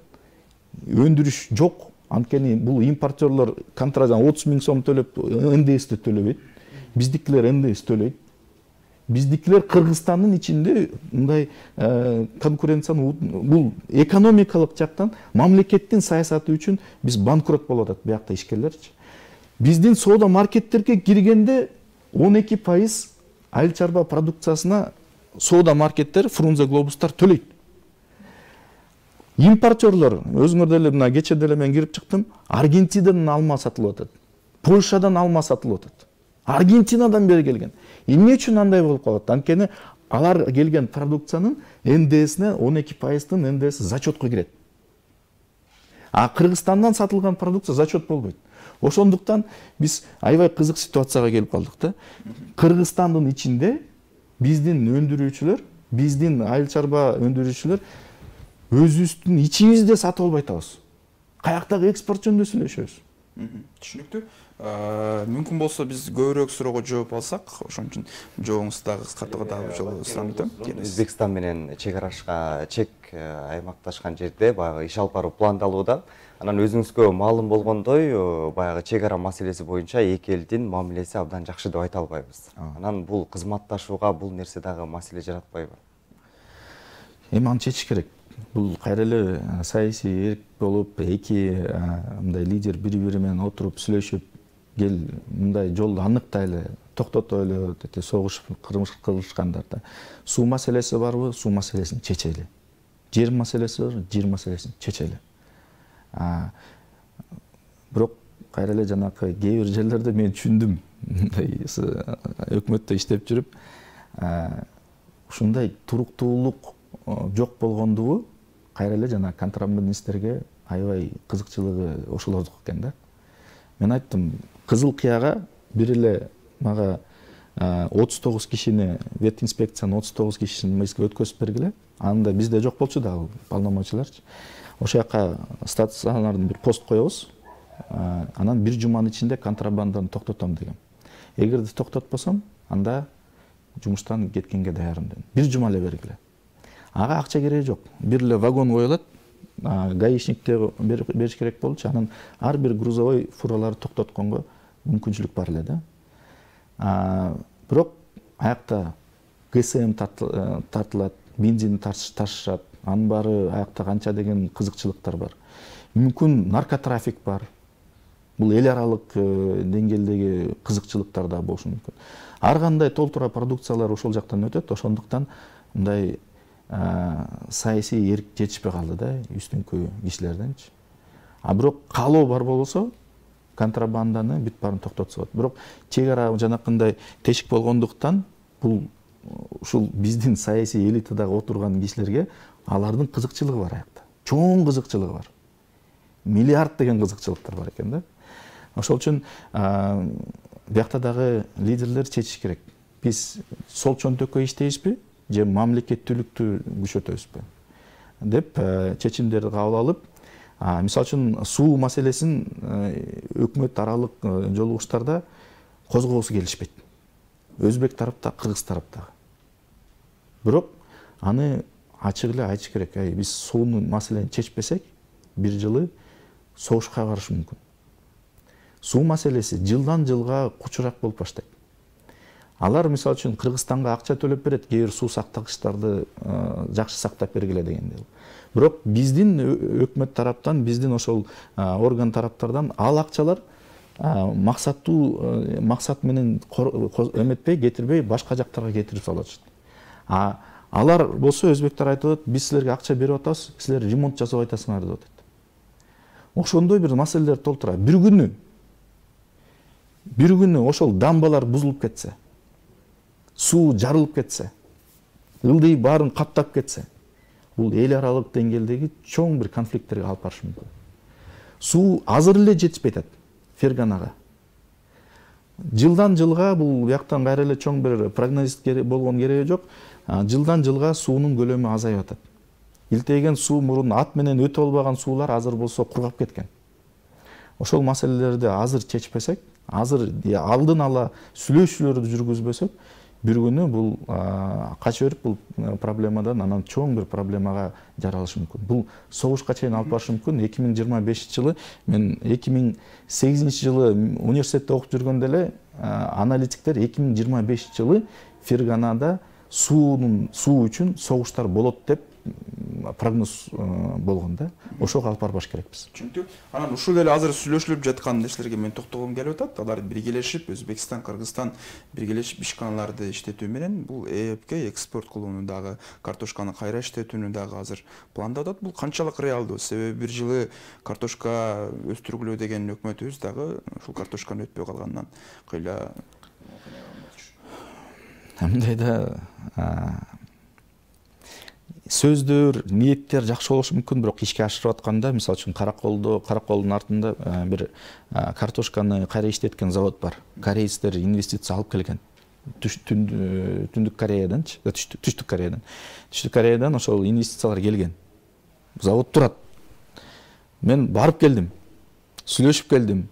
Өндүрүш жок. Анткени бул импортерлор контрабанда 30 миң сом төлөп НДСти төлөбөйт. Биздикилер НДС төлөйт. Биздикилер Кыргызстандын ичинде мындай конкуренцияны бул экономикалык жактан мамлекеттин саясаты үчүн биз банкрот болуп атат биякта ишкерлерчи. Биздин соода маркеттерге киргенде 12% айыл чарба продукциясына соода маркеттер, Фрунзе глобустар төлөйт. Импортерлор, өзүңөр деле мына кече деле мен кирип чыктым, Аргентинадан алма сатылып атат. Польшадан алма сатылып атат. Аргентинадан бери келген. Эмне үчүн андай болуп калат? Анткени алар келген продукциянын НДСине 12%-тын НДСи зачетко кирет. Кыргызстандан сатылган продукция зачет болбойт. Ошондуктан биз аябай кызык ситуацияга келип калдык да. Кыргызстандын ичинде биздин өндүрүүчүлөр, биздин айыл чарба өндүрүүчүлөр өзүбүздүн ичибизде сатып албай атабыз. Каяктагы экспорт жөнүндө сүйлөшөбүз. Түшүнүктүү. Мүмкүн болсо биз көбүрөөк суроого жооп алсак, ошон үчүн жообуңузду дагы кыскартууга дагы жол сурап өтөм. Өзбекстан менен чек аймакташкан жерде баягы иш алып баруу пландалууда. Анан өзүңүзгө маалым болгондой, баягы чек ара маселеси боюнча эки элдин мамилеси абдан жакшы деп айта албайбыз. Анан бул кызматташууга бул нерсе дагы маселе жаратпайбы? Эми аны чечиш керек. Бул кайра эле саясий эрк болуп, эки мындай лидер бири-бири менен отуруп сүйлөшүп, кел мындай жолду аныктайлы, токтотойлу, согушуп, кылмыш кылышкандарда. Суу маселеси барбы? Суу маселесин чечели. Жер маселеси бар, жер маселесин чечели. Бирок кайра эле жанакы кээ бир жерлерде мен түшүндүм. Өкмөттө иштеп жүрүп, ушундай туруктуулук жок болгондугу кайра эле жана контрабандисттерге аябай кызыкчылыгы ошолордук экен да. Мен айттым, Кызыл Кыяга бир эле мага 39 кишини, вет инспекциянын 39 кишисин мыйзга өткөзүп бергиле. Анда бизде жок болчу да полномочияларчы. Ошол жака стационардын бир пост коебуз. Анан бир жуманын ичинде контрабанданы токтотом дегем. Эгерде токтотпосом, анда жумуштан кеткенге даярмын дедим. Бир жума эле бергиле. Ага акча кереги жок. Бир эле вагон коюлат. Гаишникте бериш керек болчу. Анан ар бир грузовой фураларды токтотконго мүмкүнчүлүк бар эле да. Бирок аякта ГСМ тартылат, бензин ташышат. Анын баары аякта канча деген кызыкчылыктар бар. Мүмкүн наркотрафик бар. Бул эл аралык деңгээлдеги кызыкчылыктар да болушу мүмкүн. Ар кандай толтура продукциялар ошол жактан өтөт. Ошондуктан мындай саясий эрк жетишпей калды да үстүнкү кишилерденчи. Бирок каалоо бар болсо контрабанданы бүт баарын токтотсо болот. Бирок чек ара жанакындай тешик болгондуктан бул ушул биздин саясий элитадагы отурган кишилерге алардын кызыкчылыгы бар аякта. Чоң кызыкчылыгы бар. Миллиард деген кызыкчылыктар бар экен да. Ошол үчүн биякта дагы лидерлер чечиш керек. Биз сол чөнтөккө иштейбизби, же мамлекеттүүлүктү күчөтөбүзбү деп чечимдерди кабыл алып, мисалы үчүн суу маселесин өкмөт аралык жолугуштарда козгоосу келишпейт. Өзбек тарапта, кыргыз тарапта. Бирок аны ачык эле айтыш керек. Биз сууну маселени чечпесек, бир жылы согушка барышы мүмкүн. Суу маселеси жылдан жылга кучурак болуп баштайт. Алар мисалы үчүн Кыргызстанга акча төлөп берет, кээ бир суу сактагычтарды жакшы сактап бергиле дегенде. Бирок биздин өкмөт тараптан, биздин ошол орган тараптардан ал акчалар максаттуу максат менен эметпей, кетирбей башка жактарга кетирип салышат. Алар болсо өзбектер айтып атат, биз силерге акча берип атабыз, силер ремонт жасап айтасыңар деп атат. Ошондой бир маселелер толтура. Бир күнү ошол дамбалар бузулуп кетсе, суу жарылып кетсе, ылдый баарын каптап кетсе, бул эл аралык деңгээлдеги чоң бир конфликттерге алып барышы мүмкүн. Суу азыр эле жетишпей атат Ферганага. Жылдан жылга бул бияктан кайра эле чоң бир прогноз болгон кереги жок. Жылдан жылга суунун көлөмү азайып атат. Илтеген суу мурун ат менен өтө албаган суулар азыр болсо кургап кеткен. Ошол маселелерди азыр чечпесек, азыр алдын ала сүйлөшүүлөрдү жүргүзбөсөк, бир күнү бул кача берип бул проблемадан анан чоң бир проблемага жаралышы мүмкүн. Бул согушка чейин алып барышы мүмкүн. 2025-жылы мен 2008-жылы университетте окуп жүргөндө эле аналитиктер 2025-жылы Ферганада суу үчүн согуштар болот деп прогноз болгон да. Ошого алып барбаш керекпиз. Чүнктүү анан ушул эле азыр сүйлөшүлүп жаткан нерселерге мен токтогум келип атат. Алар биргелешип, Өзбекстан, Кыргызстан биргелешип ишканаларды иштетүү менен бул ЭЭПке экспорт кылууну дагы, картошканы кайра иштетүүнү дагы азыр пландап атат. Бул канчалык реалдуу? Себеби бир жылы картошка өстүргүлө деген өкмөтүбүз дагы ушул картошканы өтпөй калгандан кыйла мындайда сөздөр, ниеттер жакшы болушу мүмкүн, бирок ишке ашырып атканда, мисалы үчүн Караколдун артында бир картошканы кайра иштеткен завод бар. Корейцтер инвестиция алып келген. Түндүк Кореяданчы, Түштүк Кореядан. Түштүк Кореядан ошол инвестициялар келген. Завод турат. Мен барып келдим. Сүйлөшүп келдим.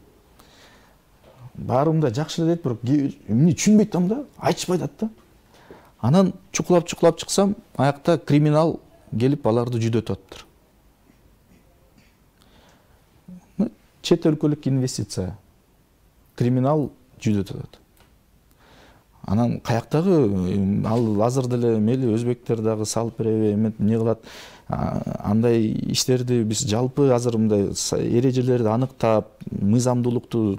Баарым да жакшы эле дейт, бирок эмне түшүнбөй атам да, айтышпай атат да. Анан чукулап чыксам, аякта криминал келип аларды жүдөтүп атыптыр. Чет өлкөлүк инвестиция. Криминал жүдөтүп атат. Анан каяктагы ал азыр деле мейли өзбектер дагы салып береби, эмне кылат? Андай иштерди биз жалпы азыр мындай эрежелерди аныктап, мыйзамдуулукту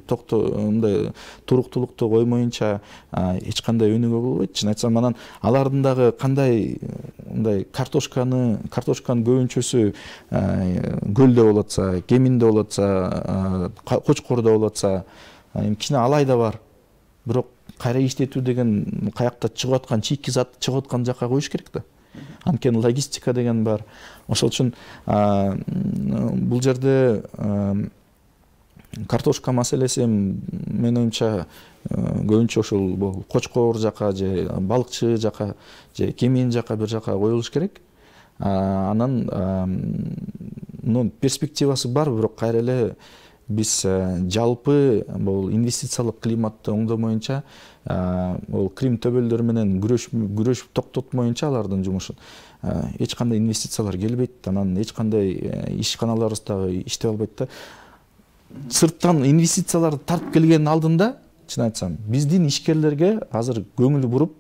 мындай туруктуулукту коймоюнча эч кандай өнүгүү болбойт. Чын айтсам, анан алардын дагы кандай мындай картошканын көбүнчөсү көлдө болуп атса, Кеминде болуп атса, Кочкордо болуп атса, кичине алай да бар. Бирок кайра иштетүү деген каякта чыгып аткан чийки зат чыгып аткан жакка коюш керек да. Анткени логистика деген бар. Ошол үчүн бул жерде картошка маселеси менин оюмча көбүнчө ошол Кочкор жака же балыкчы жака же Кемин жака бир жака коюлуш керек. Анан перспективасы бар, бирок кайра эле биз жалпы бул инвестициялык климатты оңдомоюнча, бул Крим төбөлдөр менен күрөш токтотмоюнча алардын жумушун эч кандай инвестициялар келбейт, анан эч кандай ишканаларыбыз дагы иштей албайт да. Сырттан инвестицияларды тартып келгенин алдында, чын айтсам, биздин ишкерлерге азыр көңүл буруп,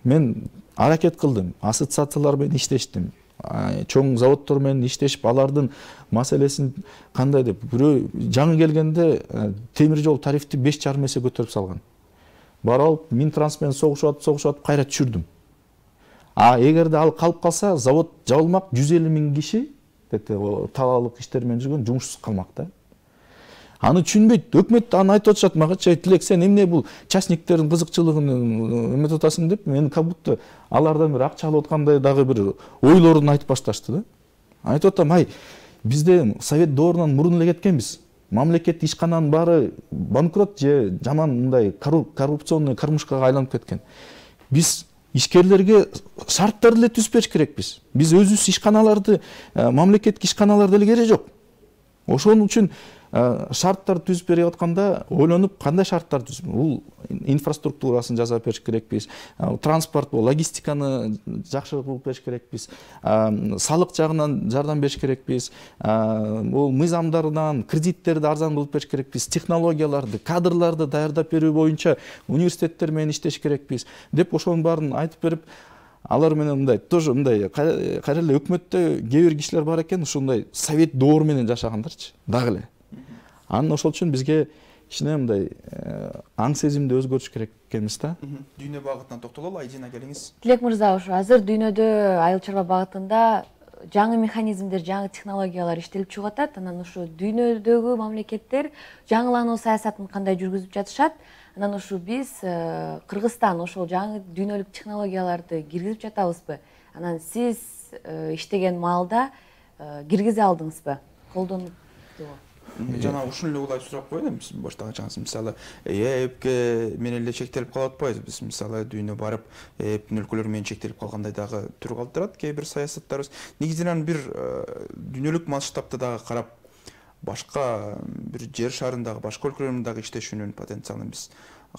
мен аракет кылдым, ассоциациялар менен иштештим, чоң заводдор менен иштешип, алардын маселесин кандай деп, бирөө жаңы келгенде темир жол тарифти 5,5 эсе көтөрүп салган. Барып алып, Минтранс менен согушуп кайра түшүрдүм. Эгерде ал калып калса, завод жабылмак, 150 000 киши талаалык иштер менен жүргөн жумушсуз калмак да. Аны түшүнбөйт. Өкмөт аны айтып атышат мага, Тилек, сен эмне бул частниктердин кызыкчылыгын эметип атасың деп, мен как будто алардан бир акча алып аткандай дагы бир ойлорун айтып башташты да. Айтып атам, бизде Совет доорунан мурун эле кеткенбиз. Мамлекет ишкананын баары банкрот же жаман мындай коррупционный кормушкага айланып кеткен. Биз ишкерлерге шарттарды эле түзүп бериш керекпиз. Биз өзүбүз ишканаларды, мамлекеттик ишканаларды эле кереги жок. Ошон үчүн шарттар түзүп берип атканда ойлонуп кандай шарттар түзүп, бул инфраструктурасын жасап бериш керекпиз, транспорт, логистиканы жакшы кылып бериш керекпиз, салык жагынан жардам бериш керекпиз, бул мыйзамдардан кредиттерди арзан кылып бериш керекпиз, технологияларды, кадрларды даярдап берүү боюнча университеттер менен иштеш керекпиз деп ошонун баарын айтып берип, алар менен мындай тоже мындай кайра эле өкмөттө кээ бир кишилер бар экен, ушундай совет доору менен жашагандарчы дагы эле. Анан ошол үчүн бизге кичине мындай аң сезимди өзгөртүш керек экенбиз да. Дүйнө багытына токтололу, Айдина келиңиз. Тилек мырза, ушу азыр дүйнөдө айыл чарба багытында жаңы механизмдер, жаңы технологиялар иштелип чыгып атат. Анан ушу дүйнөдөгү мамлекеттер жаңылануу саясатын кандай жүргүзүп жатышат? Анан ушу биз Кыргызстан ошол жаңы дүйнөлүк технологияларды киргизип жатабызбы? Анан сиз иштеген маалда киргизе алдыңызбы? Колдонупту? Жана ушун эле улай сурап коеюн, сиз баштагачаңыз, мисалы, ЭЭПке менен эле чектелип калып атпайбыз биз? Мисалы, дүйнө барып, ЭЭПтин өлкөлөр менен чектелип калгандай дагы түр калтырат кээ бир саясаттарыбыз. Негизинен бир дүйнөлүк масштабта дагы карап, башка бир жер шарындагы башка өлкөлөрдүн дагы иштешүүнүн потенциалын биз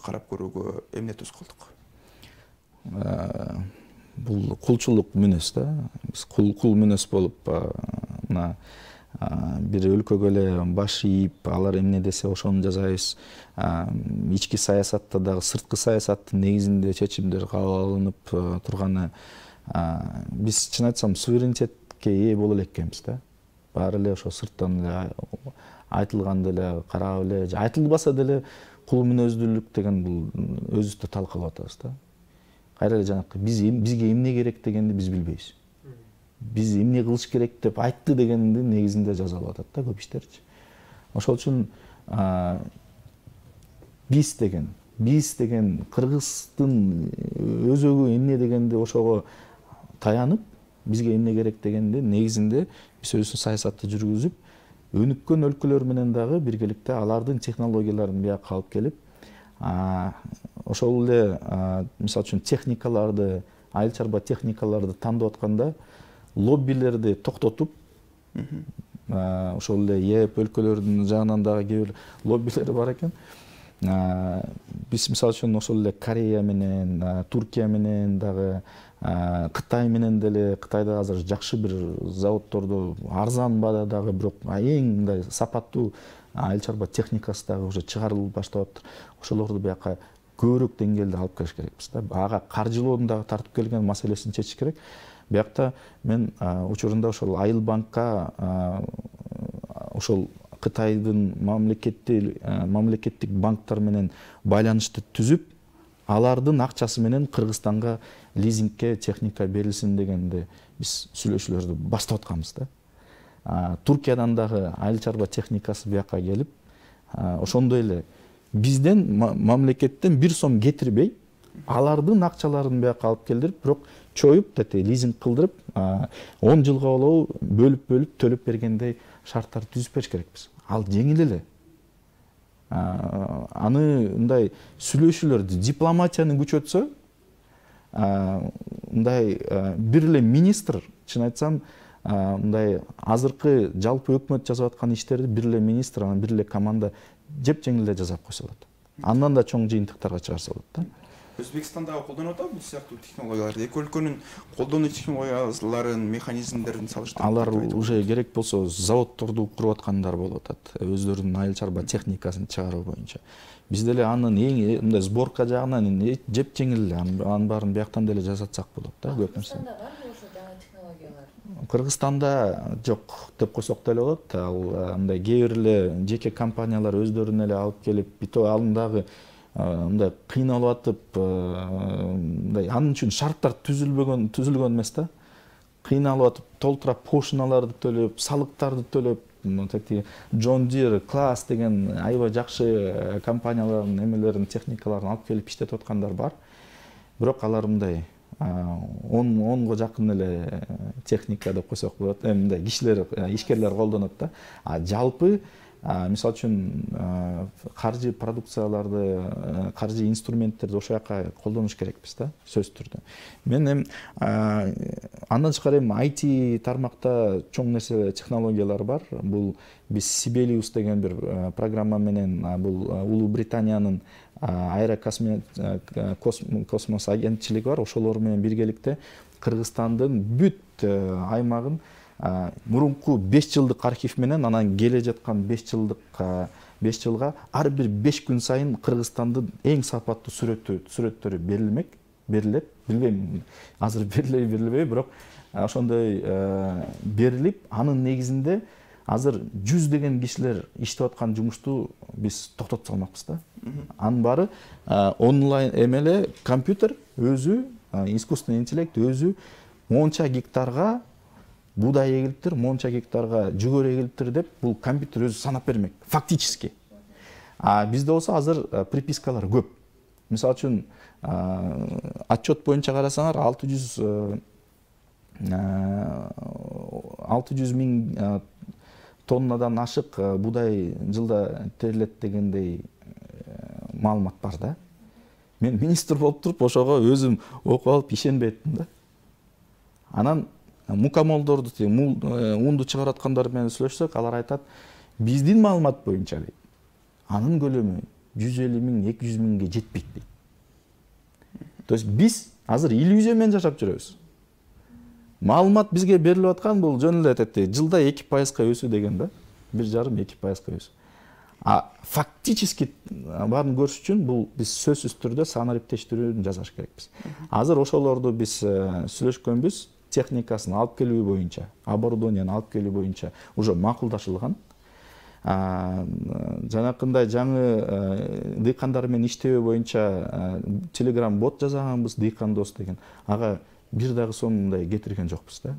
карап көрүүгө эмне туз кылдык? Бул кулчулук мүнөз да. Биз кул мүнөз болуп, мына бир өлкөгө эле баш ийип, алар эмне десе ошону жасайбыз. Ички саясатта дагы сырткы саясаттын негизинде чечимдер кабыл алынып турганы, биз чын айтсам суверенитетке ээ боло элек экенбиз да. Баары эле ошо сырттан эле айтылганды эле карап эле, же айтылбаса деле кул мүнөздүүлүк деген бул өзүбүздө талкалап атабыз да. Кайра эле жанакы бизге эмне керек дегенди биз билбейбиз. Биз эмне кылыш керек деп айтты дегенди негизинде жазалып атат да көп иштерчи. Ошол үчүн биз деген Кыргыздын өзөгү эмне дегенди ошого таянып, бизге эмне керек дегенди негизинде биз өзүбүздүн саясатты жүргүзүп, өнүккөн өлкөлөр менен дагы биргеликте алардын технологияларын бияка алып келип, ошол эле мисалы үчүн техникаларды, айыл чарба техникаларды тандап атканда лоббилерди токтотуп, ошол эле ЕЭП өлкөлөрүнүн жагынан дагы кээ бир лоббилер бар экен. Биз мисалы үчүн ошол эле Корея менен, Туркия менен дагы, Кытай менен деле, Кытайда азыр жакшы бир заводдорду арзан баадагы, бирок эң мындай сапаттуу айыл чарба техникасы дагы уже чыгарылып баштап атыптыр. Ошолорду бияка көбүрөөк деңгээлде алып келиш керекпиз да. Ага каржылоодун дагы тартып келген маселесин чечиш керек. Биякта мен учурунда ошол Айыл банкка ошол Кытайдын мамлекеттик банктар менен байланышты түзүп, алардын акчасы менен Кыргызстанга лизингке техника берилсин дегенди биз сүйлөшүүлөрдү баштап атканбыз да. Туркиядан дагы айыл чарба техникасы бияка келип, ошондой эле бизден мамлекеттен 1 сом кетирбей, алардын акчаларын бияка алып келдирип, бирок чоюп, лизинг кылдырып, 10 жылга болобу бөлүп төлөп бергендей шарттар түзүп бериш керекпиз. Ал жеңил эле. Аны мындай сүйлөшүүлөрдү, дипломатияны күчөтсө, мындай бир эле министр, чын айтсам, мындай азыркы жалпы өкмөт жасап аткан иштерди бир эле министр, анан бир эле команда жеп-жеңил эле жасап койсо болот. Андан да чоң жыйынтыктарга чыгарса болот да. Өзбекстандагы колдонуп атабы бул сыяктуу технологияларды? Эки өлкөнүн колдонуу технологияларын, механизмдерин салыштырып, алар уже керек болсо заводдорду куруп аткандар болуп атат, өздөрүнүн айыл чарба техникасын чыгаруу боюнча. Бизде эле анын эң мындай сборка жагынан жеп-жеңил эле, анын баарын бияктан деле жасатсак болот да, көп нерсе. Кыргызстанда барбы ошо жаңы технологиялар? Кыргызстанда жок деп койсок деле болот. Ал мындай кээ бир эле жеке компаниялар өздөрүнө эле алып келип, алдындагы мындай кыйналып атып, мындай анын үчүн шарттар түзүлгөн эмес да. Кыйналып атып, толтура пошлиналарды төлөп, салыктарды төлөп, John Deere, Class деген аябай жакшы компаниялардын эмелерин, техникаларын алып келип иштетип аткандар бар. Бирок алар мындай 10го жакын эле техника деп койсок болот, мындай кишилер, ишкерлер колдонот да. Жалпы Мисалы үчүн каржы продукцияларды, каржы инструменттерди ошол жака колдонуш керекпиз да, сөзсүз түрдө. Мен эми андан тышкары эми IT тармакта чоң нерсе технологиялар бар. Бул биз Sibelius деген бир программа менен бул Улуу Британиянын аэрокосмос агентчилиги бар. Ошолор менен биргеликте Кыргызстандын бүт аймагын мурунку 5 жылдык архив менен анан келе жаткан 5 жылга ар бир 5 күн сайын Кыргызстандын эң сапаттуу сүрөттөрү берилет. Билбейм, азыр берилбейби, бирок ошондой берилип, анын негизинде азыр 100 деген кишилер иштеп аткан жумушту биз токтотуп салмакпыз да. Анын баары онлайн эмеле компьютер өзү, искусственный интеллект өзү монча гектарга буудай эгилиптир, монча гектарга жүгөр эгилиптир деп бул компьютер өзү санап бермек фактически. Бизде болсо азыр припискалар көп. Мисалы үчүн отчет боюнча карасаңар 600 миң тоннадан ашык буудай жылда терилет дегендей маалымат бар да. Мен министр болуп туруп ошого өзүм окуп алып ишенбей аттым да. Анан мукамолдорду, унду чыгарып аткандар менен сүйлөшсөк, алар айтат, биздин маалымат боюнча дейт, анын көлөмү 150 миң, 200 миңге жетпейт дейт. То есть биз азыр иллюзия менен жашап жүрөбүз. Маалымат бизге берилип аткан бул жөн эле айтат, жылда 2% өсүү деген да, 1,5-2% өсүү. Фактически баарын көрүш үчүн бул биз сөзсүз түрдө санариптештирүүнү жасаш керекпиз. Азыр ошолорду биз сүйлөшкөнбүз, техникасын алып келүү боюнча, оборудованияны алып келүү боюнча уже макулдашылган. Жанакындай жаңы дыйкандар менен иштөө боюнча Telegram бот жасаганбыз, дыйкан дос деген. Ага бир дагы сомундай кетирген жокпуз да.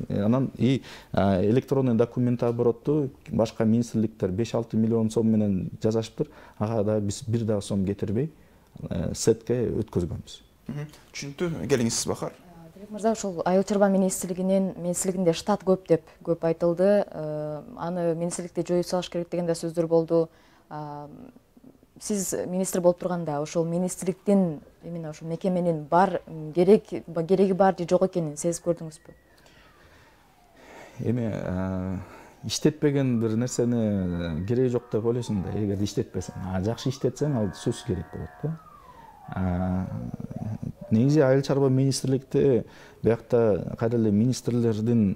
Анан электронный документ оборотту башка министрликтер 5-6 миллион сом менен жасашыптыр. Ага да биз бир дагы сом кетирбей сетке өткөзгөнбүз. Түшүнүктүү. Келиңиз Бахар. Мырза, ушул айыл чарба министрлигинде штат көп деп көп айтылды. Аны министрликте жоюп салыш керек деген да сөздөр болду. Сиз министр болуп турганда ошол министрликтин именно ошол мекеменин кереги бар же жок экенин сезип көрдүңүзбү? Эми иштетпеген бир нерсени кереги жок деп ойлойсуң да, эгер иштетпесең. Жакшы иштетсең, ал сөзсүз керек болот да. Негизи айыл чарба министрликте биякта кайра эле министрлердин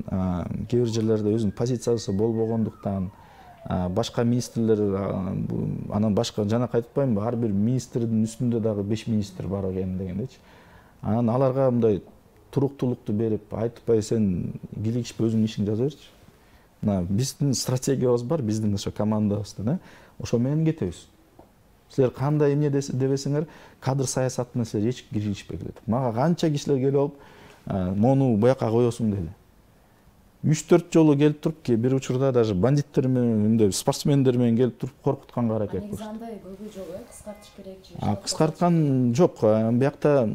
кээ бир жерлерде өзүнүн позициясы болбогондуктан башка министрлер анан башка жана айтпаймынбы, ар бир министрдин үстүндө дагы 5 министр бар экен дегендечи. Анан аларга мындай туруктуулукту берип, айтпай сен килигишпе өзүңдүн ишиңди жаза берчи. Биздин стратегиябыз бар, биздин ошо командабызда, ошо менен кетебиз. Силер кандай эмне дебесиңер, кадр саясатына силер эч киришпей келет. Мага канча кишилер келип алып, мону буяка коесуң деди. 3-4 жолу келип туруп, бир учурда даже бандиттер менен, спортсмендер менен келип туруп коркутканга аракет кылышты. Негизинде көбү жок, кыскартыш керек же? Кыскарткан жок. Биякта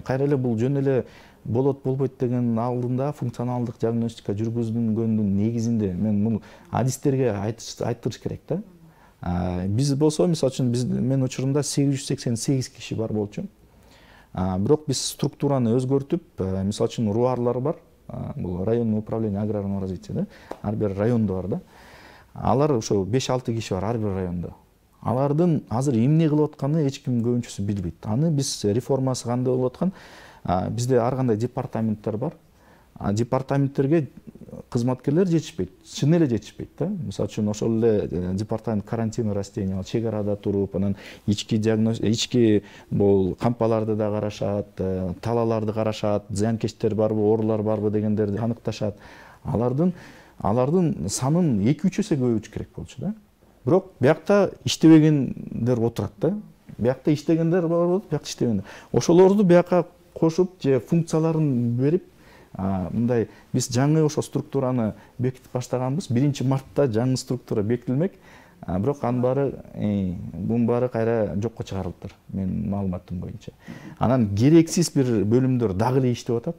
кайра эле бул жөн эле болот болбойт деген алдында функционалдык диагностика жүргүзүлгөндүн негизинде мен муну адистерге айттырыш керек да. Биз болсо, мисалы үчүн мен учурумда 888 киши бар болчу. Бирок биз структураны өзгөртүп, мисалы үчүн руарлар бар. Бул районный управление аграрного развития да. Ар бир райондо бар да. Алар ошо 5-6 киши бар ар бир райондо. Алардын азыр эмне кылып атканын эч ким көбүнчөсү билбейт. Аны биз реформасы кандай болуп аткан? Бизде ар кандай департаменттер бар. Департаменттерге кызматкерлер жетишпейт, чын эле жетишпейт да. Мисалы үчүн ошол эле департамент карантин растений, чек арада туруп, анан ички бул кампаларды да карашат, талаларды карашат, зыянкечтер барбы, оорулар барбы дегендерди аныкташат. Алардын санын 2-3 эсе көбөйтүш керек болчу да. Бирок биякта иштебегендер отурат да. Биякта иштегендер болот, биякта иштебегендер. Ошолорду бияка кошуп же функцияларын берип, мындай биз жаңы ошо структураны бекитип баштаганбыз. 1-мартта жаңы структура бекитилмек. Бирок бунун баары кайра жокко чыгарылыптыр, менин маалыматым боюнча. Анан керексиз бир бөлүмдөр дагы эле иштеп атат.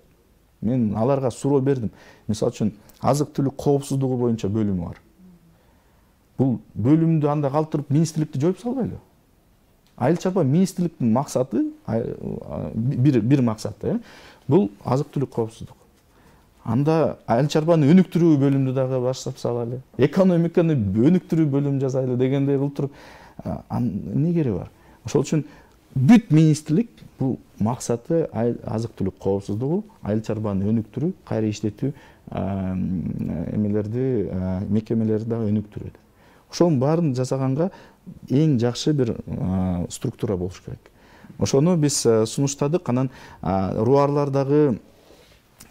Мен аларга суроо бердим. Мисалы үчүн азык түлүк коопсуздугу боюнча бөлүмү бар. бул бөлүмдү анда калтырып министрликти жоюп салбайлы. Айыл чарба министрликтин максаты бир максаты бул азык-түлүк коопсуздук. Анда айыл чарбаны өнүктүрүү бөлүмдү дагы баштап салалы, экономиканы өнүктүрүү бөлүм жасайлы дегендей кылып туруп эмне кереги бар? Ошол үчүн бүт министрлик бул максаты азык-түлүк коопсуздугу, айыл чарбаны өнүктүрүү, кайра иштетүү мекемелерди дагы өнүктүрүү. Ошонун баарын жасаганга эң жакшы бир структура болуш керек. Ошону биз сунуштадык. Анан руарлардагы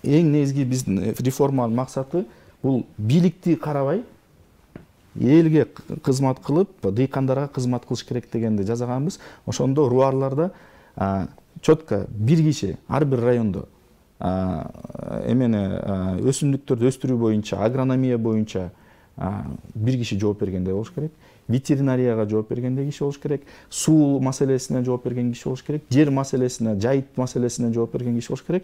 эң негизги биздин реформанын максаты бул бийликти карабай, элге кызмат кылып, дыйкандарга кызмат кылыш керек дегенди жазаганбыз. Ошондо руарларда четко бир киши ар бир райондо өсүмдүктөрдү өстүрүү боюнча, агрономия боюнча бир киши жооп бергендей болуш керек. Ветеринарияга жооп бергендей киши болуш керек. Суу маселесине жооп берген киши болуш керек. Жер маселесине, жайыт маселесине жооп берген киши болуш керек.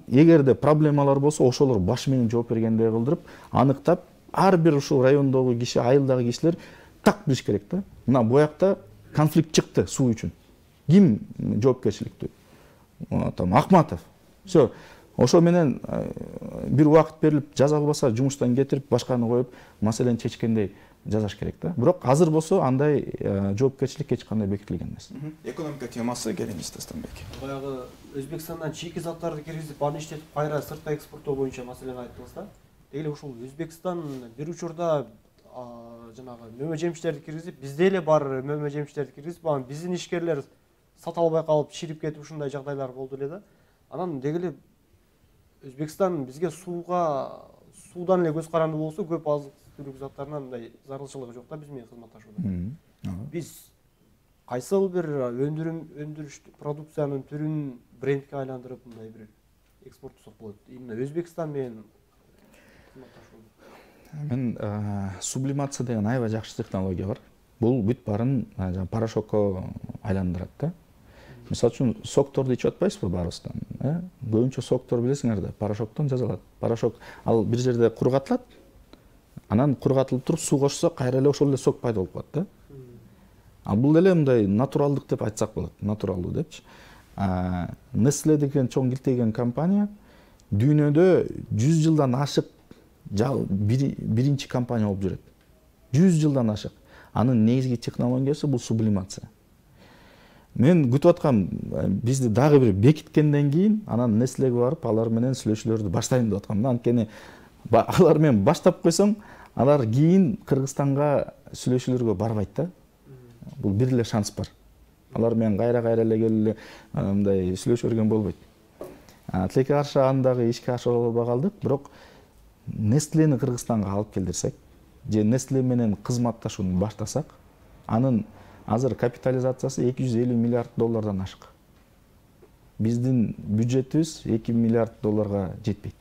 Эгерде проблемалар болсо, ошолор баш менен жооп бергендей кылдырып, аныктап, ар бир ушул райондогу киши, айылдагы кишилер так билиш керек да. Мына буякта конфликт чыкты суу үчүн. Ким жоопкерчиликтүү? Акматов. Все. Ошо менен бир убакыт берилип, жаза албаса жумуштан кетирип, башканы коюп, маселени чечкендей жазаш керек да. Бирок азыр болсо андай жоопкерчилик эч кандай бекитилген эмес. Экономика темасы келиңиз Тастанбек. Баягы Өзбекстандан чийки заттарды киргизип, аны иштетип, кайра сыртка экспорттоо боюнча маселени айттыңыз да. Деги ушул Өзбекстан бир учурда жанагы мөмө жемиштерди киргизип, бизде эле бар мөмө жемиштерди киргизип, анан биздин ишкерлер сата албай калып, чирип кетип ушундай жагдайлар болду эле да. Анан деги эле Өзбекстан бизге суудан эле көз каранды болсо, көп азык-түлүк заттарынан мындай зарылчылыгы жок да биз менен кызматташууда. Биз кайсыл бир өндүрүш продукциянын түрүн брендке айландырып мындай бир экспорттосок болот? Именно Өзбекстан менен кызматташуу. Мен сублимация деген аябай жакшы технология бар. Бул бүт баарын порошокко айландырат да. Мисалы үчүн сокторду ичип атпайсызбы баарыбыздан? Көбүнчө соктор билесиңер да, порошоктон жасалат. Порошок ал бир жерде кургатылат, анан кургатылып туруп суу кошсо, кайра эле ошол эле сок пайда болуп калат да. Бул деле мындай натуралдык деп айтсак болот, натуралдуу депчи. Nestle деген чоң килтеген компания дүйнөдө 100 жылдан ашык биринчи компания болуп жүрөт. 100 жылдан ашык. Анын негизги технологиясы бул сублимация. Мен күтүп аткам, бизди дагы бир бекиткенден кийин, анан Nestlеге барып, алар менен сүйлөшүүлөрдү баштайм деп аткам. Анткени алар менен баштап койсоң, алар кийин Кыргызстанга сүйлөшүүлөргө барбайт да. Бул бир эле шанс бар. Алар менен кайра эле келип мындай сүйлөшө берген болбойт. Тилекке каршы андагы ишке ашыра албай калдык, бирок Nestlени Кыргызстанга алып келдирсек, же Nestle менен кызматташууну баштасак, анын азыр капитализациясы $250 миллиард ашык. Биздин бюджетибиз $2 миллиард жетпейт.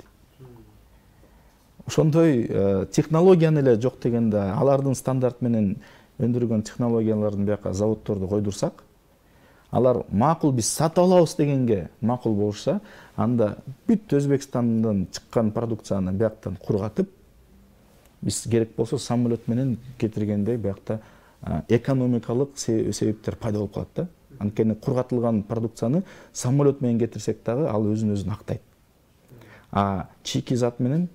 Ошондой технологияны эле жок дегенде, алардын стандарт менен өндүргөн технологиялардын бияка заводдорду койдурсак, алар макул биз сатып алабыз дегенге макул болушса, анда бүт Өзбекстандан чыккан продукцияны бияктан кургатып, биз керек болсо самолет менен кетиргендей биякта экономикалык себептер пайда болуп калат да. Анткени кургатылган продукцияны самолет менен кетирсек дагы ал өзүн актайт. Чийки зат менен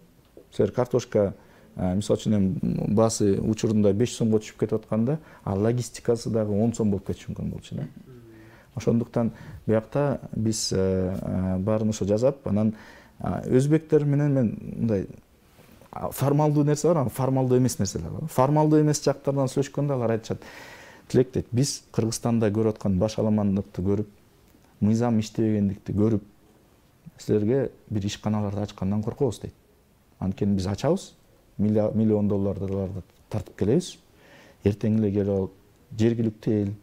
силер картошка мисалы үчүн баасы учурунда 5 сомго түшүп кетип атканда, логистикасы дагы 10 сом болуп кетиши мүмкүн болчу да. Ошондуктан биякта биз баарын ошо жасап, анан өзбектер менен мен мындай формалдуу нерсе бар, формалдуу эмес нерселер бар. Формалдуу эмес жактардан сүйлөшкөндө алар айтышат. Тилек дейт, биз Кыргызстанда көрүп аткан баш аламандыкты көрүп, мыйзам иштебегендикти көрүп, силерге бир ишканаларды ачкандан коркобуз дейт. Анткени биз ачабыз, миллион долларларды тартып келебиз. Эртең эле келип алып, жергиликтүү эл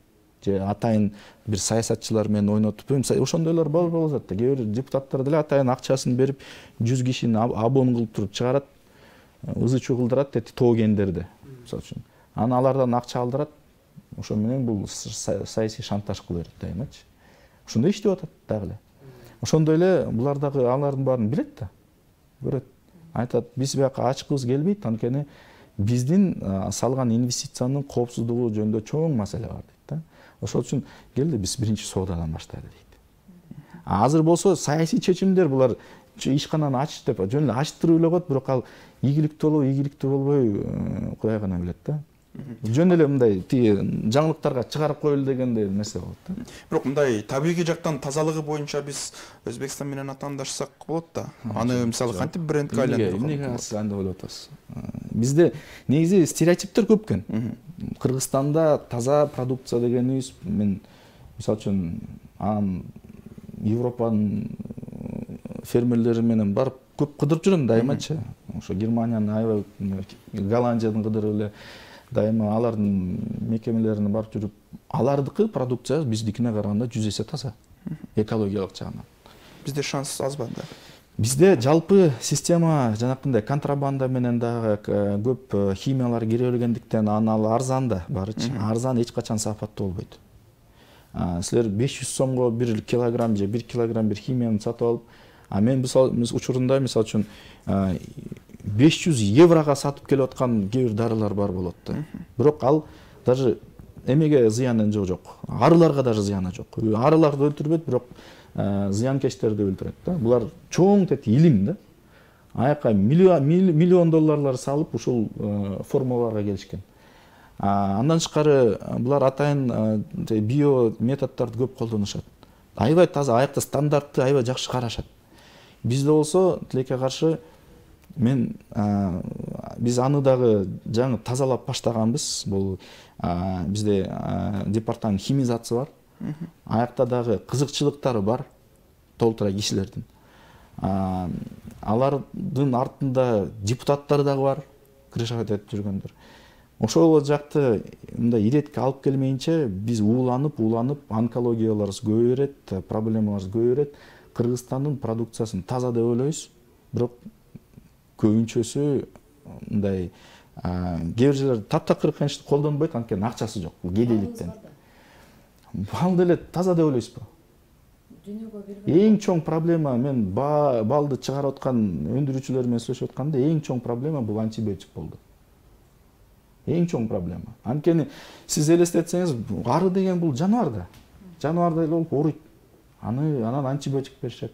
же атайын бир саясатчылар менен ойнотуп, ошондойлор болуп атат да. Кээ бир депутаттар деле атайын акчасын берип, 100 кишини абон кылып туруп чыгарат, ызы-чуу кылдырат дейт тоогендерди, мисалы үчүн. Анан алардан акча алдырат. Ошо менен бул саясий шантаж кыла берет дайымачы. Ошондой иштеп атат дагы эле. Ошондой эле булар дагы алардын баарын билет да. Көрөт. Айтат, биз бияка ачкыбыз келбейт, анткени биздин салган инвестициянын коопсуздугу жөнүндө чоң маселе бар дейт да. Ошол үчүн келди биз биринчи соодадан баштайлы дейт. Азыр болсо саясий чечимдер булар ишкананы ач деп жөн эле ачтырып эле коет, бирок ал ийгиликтүү болобу, ийгиликтүү болбойбу Кудай гана билет да. Жөн эле мындай тиги жаңылыктарга чыгарып коелу дегендей нерсе болот да. Бирок мындай табигый жактан тазалыгы боюнча биз Өзбекстан менен атаандашсак болот да. Аны мисалы кантип брендке айландырып эмнеге андый болуп атабыз? Бизде негизи стереотиптер көп экен. Кыргызстанда таза продукция дегенибиз, мен мисалы үчүн Европанын фермерлери менен барып көп кыдырып жүрөм дайымачы. Ошо Германиянын аябай, Голландиядын кыдырып эле дайыма алардын мекемелерине барып жүрүп, алардыкы продукция биздикине караганда 100 эсе таза. Экологиялык жагынан. Бизде шанс аз ба да? Бизде жалпы система жанакындай контрабанда менен дагы көп химиялар кире бергендиктен ал арзан да барычы. Арзан эч качан сапаттуу болбойт. Силер 500 сомго 1 килограмм же 1 килограмм бир химияны сатып алып, мен учурунда мисалы үчүн 500 еврого сатып келип аткан кээ бир дарылар бар болот да. Бирок ал даже эмеге зыяны жок. Арыларга даже зыяны жок. Арыларды өлтүрбөйт, бирок зыянкечтерди өлтүрөт да. Булар чоң тети илим да. Аяка миллион долларлар салып ушул формулаларга келишкен. Андан тышкары булар атайын био методдорду көп колдонушат. Аябай таза, аякта стандартты аябай жакшы карашат. Бизде болсо тилекке каршы биз аны дагы жаңы тазалап баштаганбыз. Бул бизде департамент химизация бар. Аякта дагы кызыкчылыктары бар толтура кишилердин. Алардын артында депутаттар дагы бар, крышага этип жүргөндөр. Ошол жакты мындай иретке алып келмейинче биз ууланып, онкологияларыбыз көбөйөт, проблемаларыбыз көбөйөт. Кыргызстандын продукциясын таза деп ойлойбуз, бирок көбүнчөсү мындай кээ бир жерлерде таптакыр конечно колдонбойт, анткени акчасы жок, кедейликтен. Бал деле таза деп ойлойсузбу? Эң чоң проблема, мен балды чыгарып аткан өндүрүүчүлөр менен сүйлөшүп атканда, эң чоң проблема бул антибиотик болду. Эң чоң проблема. Анткени сиз элестетсеңиз, ары деген бул жаныбар да. Жаныбардай эле болуп ооруйт. Анан антибиотик беришет.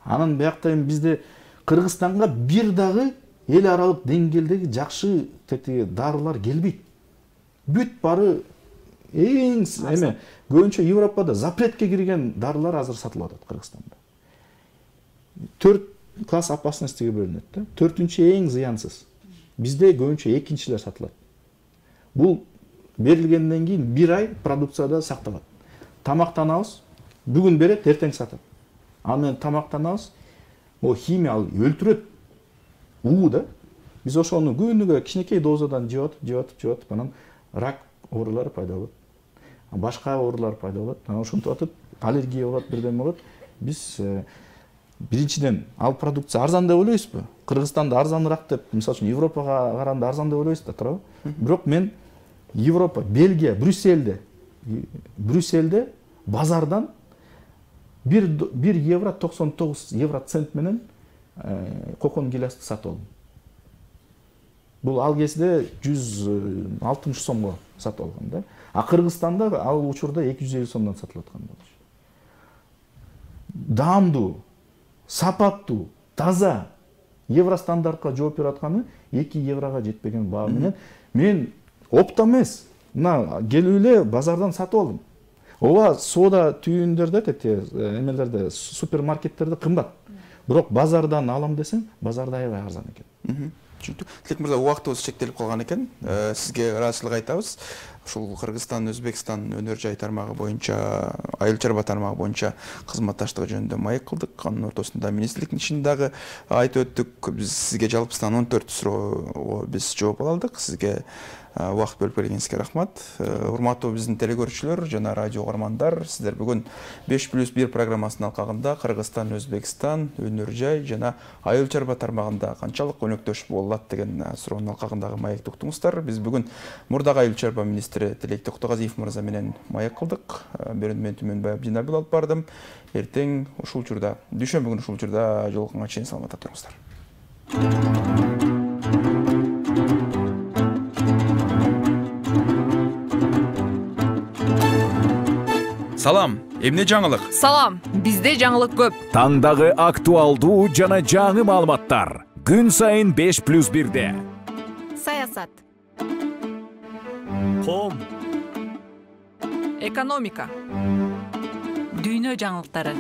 Анан биякта бизде Кыргызстанга бир дагы эл аралык деңгээлдеги жакшы дарылар келбейт. Бүт бары эң эме көбүнчө Европада запретке кирген дарылар азыр сатылып атат Кыргызстанда. 4 класс опасностьтиге бөлүнөт да. 4-чү эң зыянсыз. Бизде көбүнчө 2-чилер сатылат. Бул берилгенден кийин 1 ай продукцияда сакталат. Тамактанабыз, бүгүн берет, эртең сатат. Ал менен тамактанабыз, химия өлтүрөт. Да. Биз ошону күнүгө кичинекей дозадан жеп, анан рак оорулары пайда болот. Башка оорулар пайда болот. Ошентип атып, аллергия болот, бирден болот. Биз биринчиден ал продукция арзан деп ойлойбузбу? Кыргызстанда арзаныраак деп, мисалы үчүн Европага караганда арзан деп ойлойбуз да, туурабы? Бирок мен Европа, Бельгия, Брюсселде базардан 1 евро 99 евро цент менен кокон гилясты сатып алдым. Бул ал кезде 160 сомго сатып алган да. Кыргызстанда ал учурда 250 сомдон сатылып аткан болчу. Даамдуу, сапаттуу, таза евро стандартка жооп берип атканы 2 еврого жетпеген баа менен мен оптом эмес, мына келип эле базардан сатып алдым. Ооба соода түйүндөрдө, эмелерде, супермаркеттерде кымбат. Бирок базардан алам десең, базарда аябай арзан экен. Түшүнүктүү. Тилек мырза, убактыбыз чектелип калган экен. Сизге ыраазычылык айтабыз. Ушул Кыргызстан, Өзбекстан өнөр жай тармагы боюнча, айыл чарба тармагы боюнча кызматташтыгы жөнүндө маек кылдык. Анын ортосунда министрликтин ишин дагы айтып өттүк. Биз сизге жалпысынан 14 суроого биз жооп ала алдык. Сизге убакыт бөлүп бергениңизге рахмат. Урматтуу биздин телекөрүүчүлөр жана радио угармандар, сиздер бүгүн 5+1 программасынын алкагында Кыргызстан, Өзбекстан өнөр жай жана айыл чарба тармагында канчалык өнөктөш боло алат деген суроонун алкагындагы маекти уктуңуздар. Биз бүгүн мурдагы айыл чарба министри Тилек Токтогазиев мырза менен маек кылдык. Берүүнү мен Түмөнбай Абдинабил алып бардым. Эртең ушул учурда, дүйшөмбү күнү ушул учурда жолукканга чейин саламатта туруңуздар. Салам, эмне жаңылык? Салам, бизде жаңылык көп. Таңдагы актуалдуу жана жаңы маалыматтар. Күн сайын 5+1-де. Саясат. Ком. Экономика. Дүйнө жаңылыктары.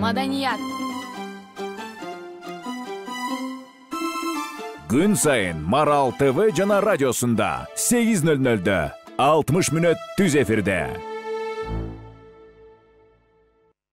Маданият. Күн сайын Марал ТВ жана радиосунда 8:00-дө 60 мүнөт түз эфирде.